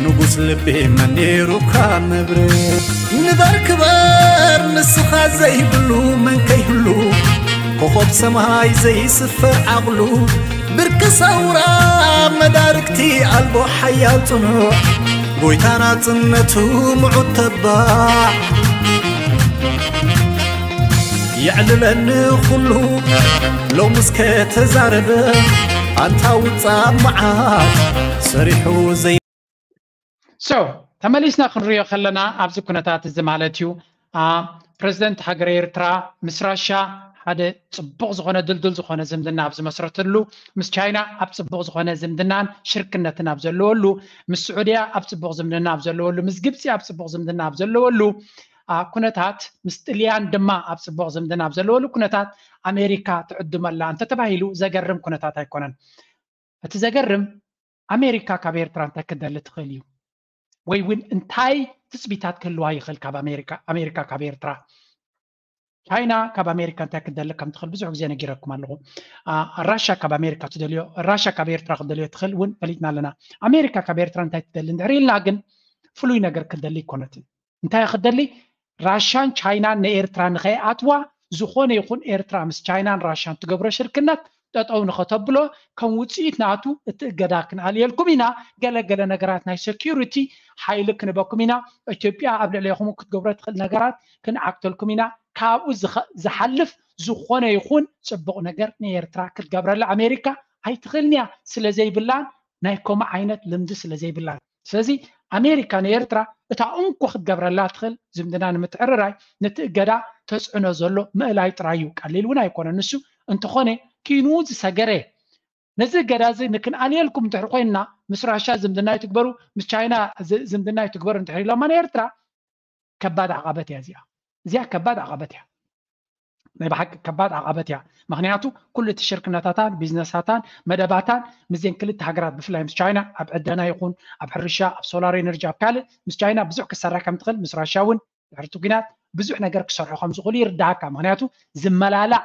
ንጉስ ልቢ መን ነይሩካ መብርህ ንበር ክበር ንስኻ ዘይብሉ መን ከይህሉ ኮኾብ ሰማይ ዘይስፈር ዓቕሉ ብርቂ ሰውራ መዳርግቲ ኣልቦ ሓያል ጽኑዕ ጎይታ ናጽነቱ ምዑት ተባዕ የዕልለኒ ኩሉ ሎምስ ከተዛረበ ኣንታ ውጻእ መዓት ሰሪሑ ዘይ So ተመሊስና ክንሪኦ ከለና ኣብዚ ኩነታት እዚ ማለት እዩ ፕሬዚደንት ሃገረ ኤርትራ ምስ ራሻ ሓደ ጽቡቕ ዝኾነ ድልዱል ዝኾነ ዝምድና ኣብ ዝመስረተሉ ምስ ቻይና ኣብ ጽቡቕ ዝኾነ ዝምድናን ሽርክነትን ኣብ ዘለወሉ ምስ ስዑድያ ኣብ ጽቡቕ ዝምድና ኣብ ዘለወሉ ምስ ግብፂ ኣብ ጽቡቕ ዝምድና ኣብ ዘለወሉ ኩነታት ምስ ጥልያን ድማ ኣብ ጽቡቕ ዝምድና ኣብ ዘለወሉ ኩነታት ኣሜሪካ ትዕድመላ እንተተባሂሉ ዘገርም ኩነታት ኣይኮነን። እቲ ዘገርም ኣሜሪካ ካብ ኤርትራ እንታይ ክደሊ ትኽእል እዩ ወይ እውን እንታይ ትፅቢታት ክህልዋ ይኽእል ካብ ኣሜሪካ ኣሜሪካ ካብ ኤርትራ ቻይና ካብ ኣሜሪካ እንታይ ክደሊ ከም ትኽእል ብዙሕ ግዜ ነጊረኩም ኣለኹ። ራሻ ካብ ኣሜሪካ ትደልዮ ራሻ ካብ ኤርትራ ክደልዮ ትኽእል እውን ፈሊጥና ኣለና። ኣሜሪካ ካብ ኤርትራ እንታይ ትደሊ እንድሕር ኢልና ግን ፍሉይ ነገር ክደሊ ኣይኮነትን። እንታይ ክደሊ ራሻን ቻይናን ንኤርትራ ንኸይኣትዋ ዝኾነ ይኹን ኤርትራ ምስ ቻይናን ራሻን ትገብሮ ሽርክነት ጠጠው ንኸተብሎ ከም ውፅኢት ናቱ እቲ እገዳ ክንኣልየልኩም ኢና። ገለገለ ነገራት ናይ security ሓይሊ ክንበኩም ኢና። ኢትዮጵያ ኣብ ልዕሌኹም ክትገብሮ ትኽእል ነገራት ክንዓግተልኩም ኢና። ካብኡ ዝሓልፍ ዝኾነ ይኹን ፅቡቕ ነገር ንኤርትራ ክትገብረላ ኣሜሪካ ኣይትኽእልን እያ። ስለ ዘይብላን ናይ ከምኡ ዓይነት ልምዲ ስለ ዘይብላን ስለዚ ኣሜሪካ ንኤርትራ እታ እንኮ ክትገብረላ ትኽእል ዝምድና ንምትዕርራይ ነቲ እገዳ ተፅዕኖ ዘሎ ምእላይ ጥራይ እዩ። ቀሊል እውን ኣይኮነን ንሱ። እንተኾነ ኪኑ ዝሰገረ ነዚ እገዳ እዚ ንክንኣልየልኩም እንድሕር ኮይንና ምስ ራሻ ዝምድና ይትግበሩ ምስ ቻይና ዝምድና ይትግበሩ እንድሕር ኢሎማ ንኤርትራ ከባድ ዓቐበት እያ እዚኣ። እዚኣ ከባድ ዓቐበት እያ። ናይ ብሓቂ ከባድ ዓቐበት እያ። ምክንያቱ ኩሉ እቲ ሽርክነታታን ቢዝነሳታን መደባታን ምስዘን ክልተ ሃገራት ብፍላይ ምስ ቻይና ኣብ ዕደና ይኹን ኣብ ሕርሻ ኣብ ሶላር ኤነርጂ ኣብ ካልእ ምስ ቻይና ብዙሕ ክሰርሕ ከም ትኽእል ምስ ራሻ እውን ድሕርቲ ኩናት ብዙሕ ነገር ክሰርሑ ከም ዝኽእሉ ይርዳእካ። ምክንያቱ ዝመላላእ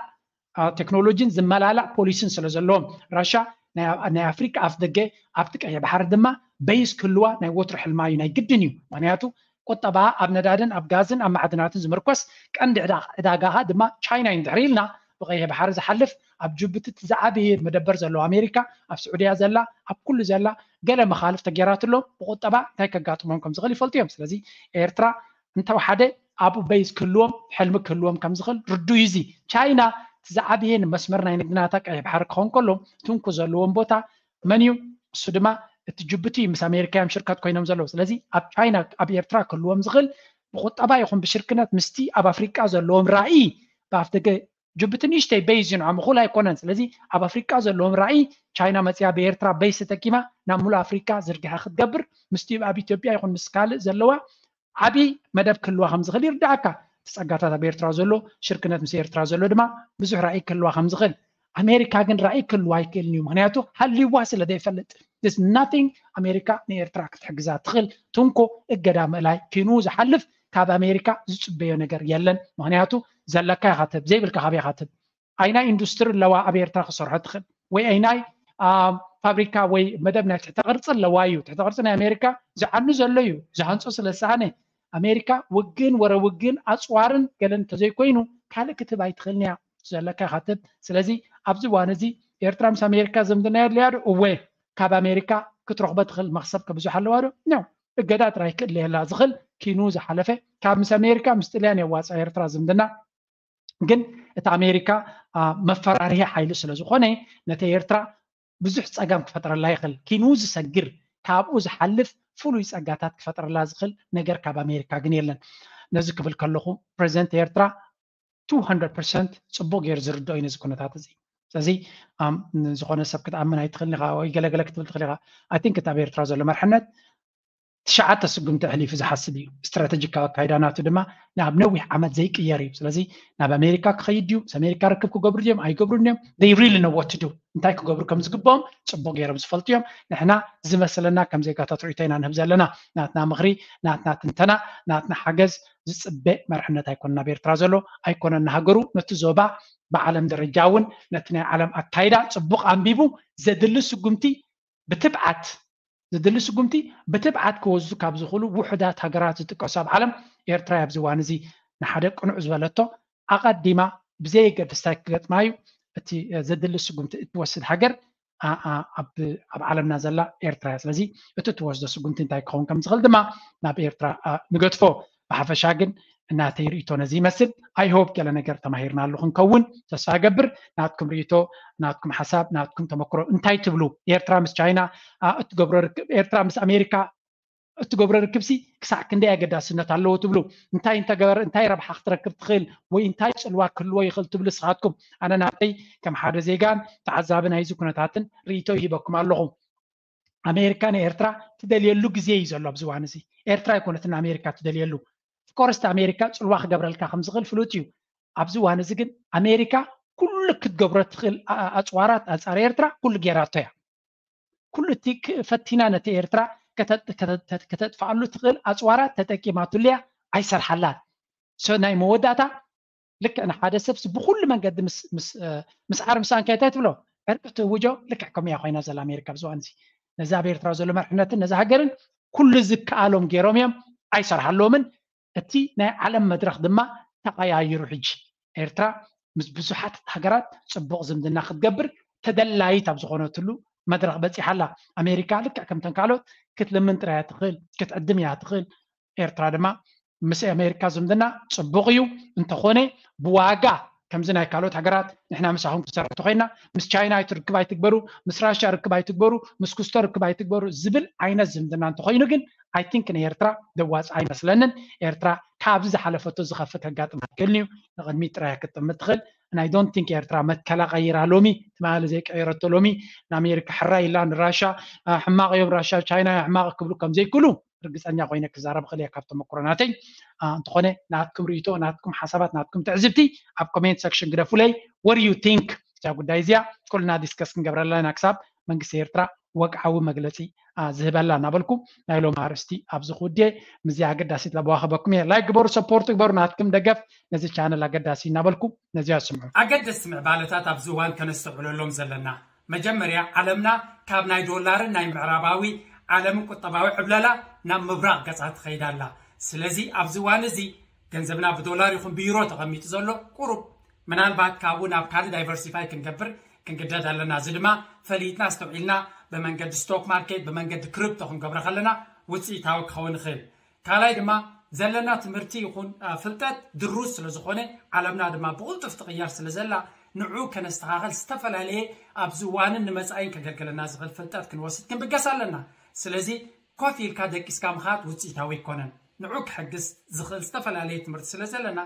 ቴክኖሎጂን ዝመላላእ ፖሊሲን ስለ ዘለዎም ራሻ ናይ ኣፍሪካ ኣፍ ደገ ኣብቲ ቀይሕ ባሕሪ ድማ በይስ ክህልዋ ናይ ወትሩ ሕልማ እዩ፣ ናይ ግድን እዩ። ምክንያቱ ቁጠባ ኣብ ነዳድን ኣብ ጋዝን ኣብ ማዕድናትን ዝምርኮስ ቀንዲ ዕዳጋኻ ድማ ቻይና እዩ። ድሕሪ ኢልና ብቀይሕ ባሕሪ ዝሓልፍ ኣብ ጅቡቲ እቲ ዝዓበየ መደበር ዘለዎ ኣሜሪካ ኣብ ስዑድያ ዘላ ኣብ ኩሉ ዘላ ገለ መኻልፍ ተጌራትሎም ብቁጠባ እንታይ ከጋጥሞም ከም ዝኽእል ይፈልጡ እዮም። ስለዚ ኤርትራ እንተወሓደ ኣብኡ በይዝ ክህልዎም ሕልሚ ክህልዎም ከም ዝኽእል ርዱይ እዩ። እዚ ቻይና እቲ ዝዓበየ ንመስመር ናይ ንግድናታ ቀይሕ ባሕሪ ክኸውን ከሎ ትንኩ ዘለዎም ቦታ መን እዩ? እሱ ድማ እቲ ጅቡቲ ምስ ኣሜሪካ እዮም ሽርከት ኮይኖም ዘለዉ። ስለዚ ኣብ ቻይና ኣብ ኤርትራ ክህልዎም ዝኽእል ብቁጠባ ይኹን ብሽርክነት ምስቲ ኣብ ኣፍሪቃ ዘለዎም ራእይ ብኣፍ ደገ ጅቡቲ ንእሽተይ በይዝ እዩ ንዖም እኹል ኣይኮነን። ስለዚ ኣብ ኣፍሪቃ ዘለዎም ራእይ ቻይና መፅያ ብኤርትራ በይዝ ተጠቂማ ናብ ሙሉእ ኣፍሪቃ ዝርግሐ ክትገብር ምስቲ ኣብ ኢትዮጵያ ይኹን ምስ ካልእ ዘለዋ ዓብዪ መደብ ክህልዋ ከም ዝኽእል ይርዳእካ። እቲ ጸጋታት ኣብ ኤርትራ ዘሎ ሽርክነት ምስ ኤርትራ ዘሎ ድማ ብዙሕ ራእይ ክህልዋ ከም ዝኽእል። ኣሜሪካ ግን ራእይ ክህልዋ ኣይክእልን እዩ። ምክንያቱ ሃልይዋ ስለ ዘይፈልጥ። There's nothing ኣሜሪካ ንኤርትራ ክትሕግዛ ትኽእል። ትንኮ እገዳ ምእላይ ኪኑ ዝሓልፍ ካብ ኣሜሪካ ዝጽበዮ ነገር የለን። ምክንያቱ ዘለካ ኢኻ ትህብ፣ ዘይብልካ ካበይ ኢኻ ትህብ? ኣይናይ ኢንዱስትሪ ኣለዋ ኣብ ኤርትራ ክሰርሖ ትኽእል ወይ ኣይናይ ፋብሪካ ወይ መደብ ናይ ትሕተ ቅርፂ ኣለዋ እዩ። ትሕተ ቅርፂ ናይ ኣሜሪካ ዝዓኑ ዘሎ እዩ። ዝሃንፆ ስለ ዝሰኣነ ኣሜሪካ ውግን ወረ ውግን ኣፅዋርን ገለን እንተዘይኮይኑ ካልእ ክትህብ ኣይትኽእልን እያ። ዘለካ ኢኻ ትህብ። ስለዚ ኣብዚ እዋን እዚ ኤርትራ ምስ ኣሜሪካ ዝምድና የድልያ ዶ? እወ። ካብ ኣሜሪካ ክትረኽቦ ትኽእል መኽሰብ ከብዙሕ ኣለዋ ዶ? ኖ። እገዳ ጥራይ ክእለየላ ዝኽእል ኪኑ ዝሓለፈ ካብ ምስ ኣሜሪካ ምስ ጥልያን የዋፅኣ ኤርትራ ዝምድና ግን እቲ ኣሜሪካ መፈራርሂ ሓይሊ ስለ ዝኾነ ነቲ ኤርትራ ብዙሕ ፀገም ክፈጥረላ ይኽእል። ኪኑ ዝሰግር ካብኡ ዝሓልፍ ፍሉይ ፀጋታት ክፈጥረላ ዝኽእል ነገር ካብ ኣሜሪካ ግን የለን። ነዚ ክብል ከለኹ ፕሬዚደንት ኤርትራ two hundred percent ፅቡቅ ገይሩ ዝርድኦ እዩ ነዚ ኩነታት እዚ። ስለዚ ዝኾነ ሰብ ክትኣምን ኣይትኽእልን ኢኻ ወይ ገለገለ ክትብል ትኽእል ኢኻ። I think እቲ ኣብ ኤርትራ ዘሎ መርሕነት ትሽዓተ ስጉምቲ ኣሕሊፉ ዝሓስብ እዩ። ስትራተጂካዊ ኣካይዳ ናቱ ድማ ናብ ነዊሕ ዓመት ዘይቅየር እዩ። ስለዚ ናብ ኣሜሪካ ክኸይድ ድዩ? ምስ ኣሜሪካ ርክብ ክገብሩ ድዮም ኣይገብሩን እዮም? They really know what to do። እንታይ ክገብሩ ከም ዝግብኦም ፅቡቅ ገይሮም ዝፈልጡ እዮም። ንሕና ዝመስለና ከም ዜጋታት ርእይቶ ኢና ንህብ ዘለና። ናትና ምኽሪ፣ ናትና ትንተና፣ ናትና ሓገዝ ዝፅበ መርሕነት ኣይኮነን ኣብ ኤርትራ ዘሎ፣ ኣይኮነን ንሃገሩ፣ ነቲ ዞባ ብዓለም ደረጃ እውን ነቲ ናይ ዓለም ኣካይዳ ፅቡቅ ኣንቢቡ ዘድሊ ስጉምቲ ብትብዓት ዘድሊ ስጉምቲ ብትብዓት ክወስዱ ካብ ዝኽእሉ ውሑዳት ሃገራት ዝጥቀሱ ኣብ ዓለም ኤርትራ ኣብዚ እዋን እዚ ንሓደ ቅኑዕ ዝበለቶ ኣቐዲማ ብዘየገድስ እንታይ ክገጥማ እዩ እቲ ዘድሊ ስጉምቲ እትወስድ ሃገር ኣብ ዓለምና ዘላ ኤርትራ እያ። ስለዚ እቲ እትወስዶ ስጉምቲ እንታይ ክኸውን ከም ዝኽእል ድማ ናብ ኤርትራ ንገድፎ። ብሓፈሻ ግን እናተይ ርእቶ ነዚ ይመስል። I hope ገለ ነገር ተማሂርናሉ ክንከውን ተስፋ እገብር። ናትኩም ርእቶ፣ ናትኩም ሓሳብ፣ ናትኩም ተመክሮ እንታይ ትብሉ? ኤርትራ ምስ ቻይና እትገብሮ ርክብ፣ ኤርትራ ምስ ኣሜሪካ እትገብሮ ርክብሲ ክሳዕ ክንደይ ኣገዳስነት ኣለዎ ትብሉ? እንታይ እንተገበር እንታይ ረብሓ ክትረክብ ትኽእል ወይ እንታይ ፅልዋ ክህልዎ ይኽእል ትብሉ ንስኻትኩም? ኣነ ናተይ ከም ሓደ ዜጋን ተዓዛቢ ናይዚ ኩነታትን ርእቶ ይሂበኩም ኣለኹ። ኣሜሪካ ንኤርትራ ትደልየሉ ግዜ እዩ ዘሎ ኣብዚ እዋን እዚ። ኤርትራ ኣይኮነትን ኣሜሪካ ትደልየሉ። Of course ኣሜሪካ ፅልዋ ክገብረልካ ከም ዝኽእል ፍሉጥ እዩ። ኣብዚ እዋን እዚ ግን ኣሜሪካ ኩሉ ክትገብሮ ትኽእል ኣፅዋራት ኣንፃር ኤርትራ ኩሉ ጌራቶ እያ። ኩሉ እቲ ፈቲና ነቲ ኤርትራ ከተጥፍኣሉ ትኽእል ኣፅዋራት ተጠቂማትሉ እያ፣ ኣይሰርሓላን። So ናይ መወዳእታ ልክዕ ንሓደ ሰብሲ ብኩሉ መንገዲ ምስ ዓር ምስ ኣንካይ እንታይ ትብሎ ዕርቂ ትእውጆ። ልክዕ ከምኡ እያ ኮይና ዘላ ኣሜሪካ ኣብዚ እዋን እዚ። ነዚ ኣብ ኤርትራ ዘሎ መርሕነትን ነዚ ሃገርን ኩሉ ዝከኣሎም ገይሮም እዮም፣ ኣይሰርሓለዎምን። እቲ ናይ ዓለም መድረኽ ድማ ተቐያይሩ። ሕጂ ኤርትራ ምስ ብዙሓት ሃገራት ፅቡቕ ዝምድና ክትገብር ተደላይት ኣብ ዝኾነትሉ መድረኽ በፂሓ ኣላ። ኣሜሪካ ልክዕ ከምተን ካልኦት ክትልምን ጥራይ እያ ትኽእል፣ ክትዕድም እያ ትኽእል። ኤርትራ ድማ ምስ ኣሜሪካ ዝምድና ፅቡቕ እዩ፣ እንተኾነ ብዋጋ ከምዚ ናይ ካልኦት ሃገራት ንሕና ምሳኹም ክንሰርሕ እንተኾይና ምስ ቻይና ኣይትርክብ ኣይትግበሩ፣ ምስ ራሽያ ርክብ ኣይትግበሩ፣ ምስ ኩስቶ ርክብ ኣይትግበሩ ዝብል ዓይነት ዝምድና እንተኾይኑ ግን I think ንኤርትራ ደዋፅ ኣይመስለንን። ኤርትራ ካብዚ ዝሓለፈቶ ዝኸፍእ ከጋጥማ ይክእልን እዩ። ንቕድሚት ጥራይ ክትጥምት ትኽእል። And I don't think ኤርትራ መትከላ ቀይራ ሎሚ ትማሊ ዘይቀየረቶ ሎሚ ንኣሜሪካ ሕራይ ኢላ ንራሻ ሕማቕ እዮም ራሻ ቻይና ሕማቕ ክብሉ ከም ዘይክእሉ ርግፀኛ ኮይነ ክዛረብ ክእል እየ ካብ ተመክሮ ናተይ። እንተኾነ ናትኩም ርእይቶ፣ ናትኩም ሓሳባት፣ ናትኩም ትዕዝብቲ ኣብ comment section ግደፉለይ። What do you think? እዛ ጉዳይ እዚኣ ኩልና discuss ክንገብረላ ኢና ክሳብ መንግስቲ ኤርትራ ወግዓዊ መግለፂ ዝህበላ እናበልኩ ናይ ሎም ኣርእስቲ ኣብዚ ክውድየ። ምዚ ኣገዳሲት ለበዋ ክበኩም እየ። Like ግበሩ፣ support ግበሩ፣ ናትኩም ደገፍ ነዚ channel ኣገዳሲ እናበልኩ ነዚኣ ስምዑ። ኣገደስቲ ምዕባለታት ኣብዚ እዋን ከነስተውዕለሎም ዘለና፣ መጀመርያ ዓለምና ካብ ናይ ዶላርን ናይ ምዕራባዊ ዓለምን ቁጠባዊ ዕብለላ ናብ ምብራቕ ገጻ ትኸይድ ኣላ። ስለዚ ኣብዚ እዋን እዚ ገንዘብና ብዶላር ይኹን ብዩሮ ተቐሚጡ ዘሎ ቁሩብ ምናልባት ካብኡ ናብ ካልእ diversify ክንገብር ክንግደድ ኣለና። እዚ ድማ ፈሊጥና ኣስተውዒልና ብመንገዲ stock market ብመንገዲ crypto ክንገብሮ ከለና ውፅኢታዊ ክኸውን ይኽእል። ካልኣይ ድማ ዘለና ትምህርቲ ይኹን ፍልጠት ድሩዝ ስለ ዝኾነ ዓለምና ድማ ብቕልጡፍ ትቕየር ስለ ዘላ ንዑ ከነስተኻኸል ዝተፈላለየ ኣብዚ እዋንን ንመፃኢን ከገልግለና ዝኽእል ፍልጠት ክንወስድ ክንብገስ ኣለና። ስለዚ ኮፍ ኢልካ ደቂስካ ምኻድ ውፅኢታዊ ኣይኮነን። ንዑ ክሕግዝ ዝኽእል ዝተፈላለየ ትምህርቲ ስለ ዘለና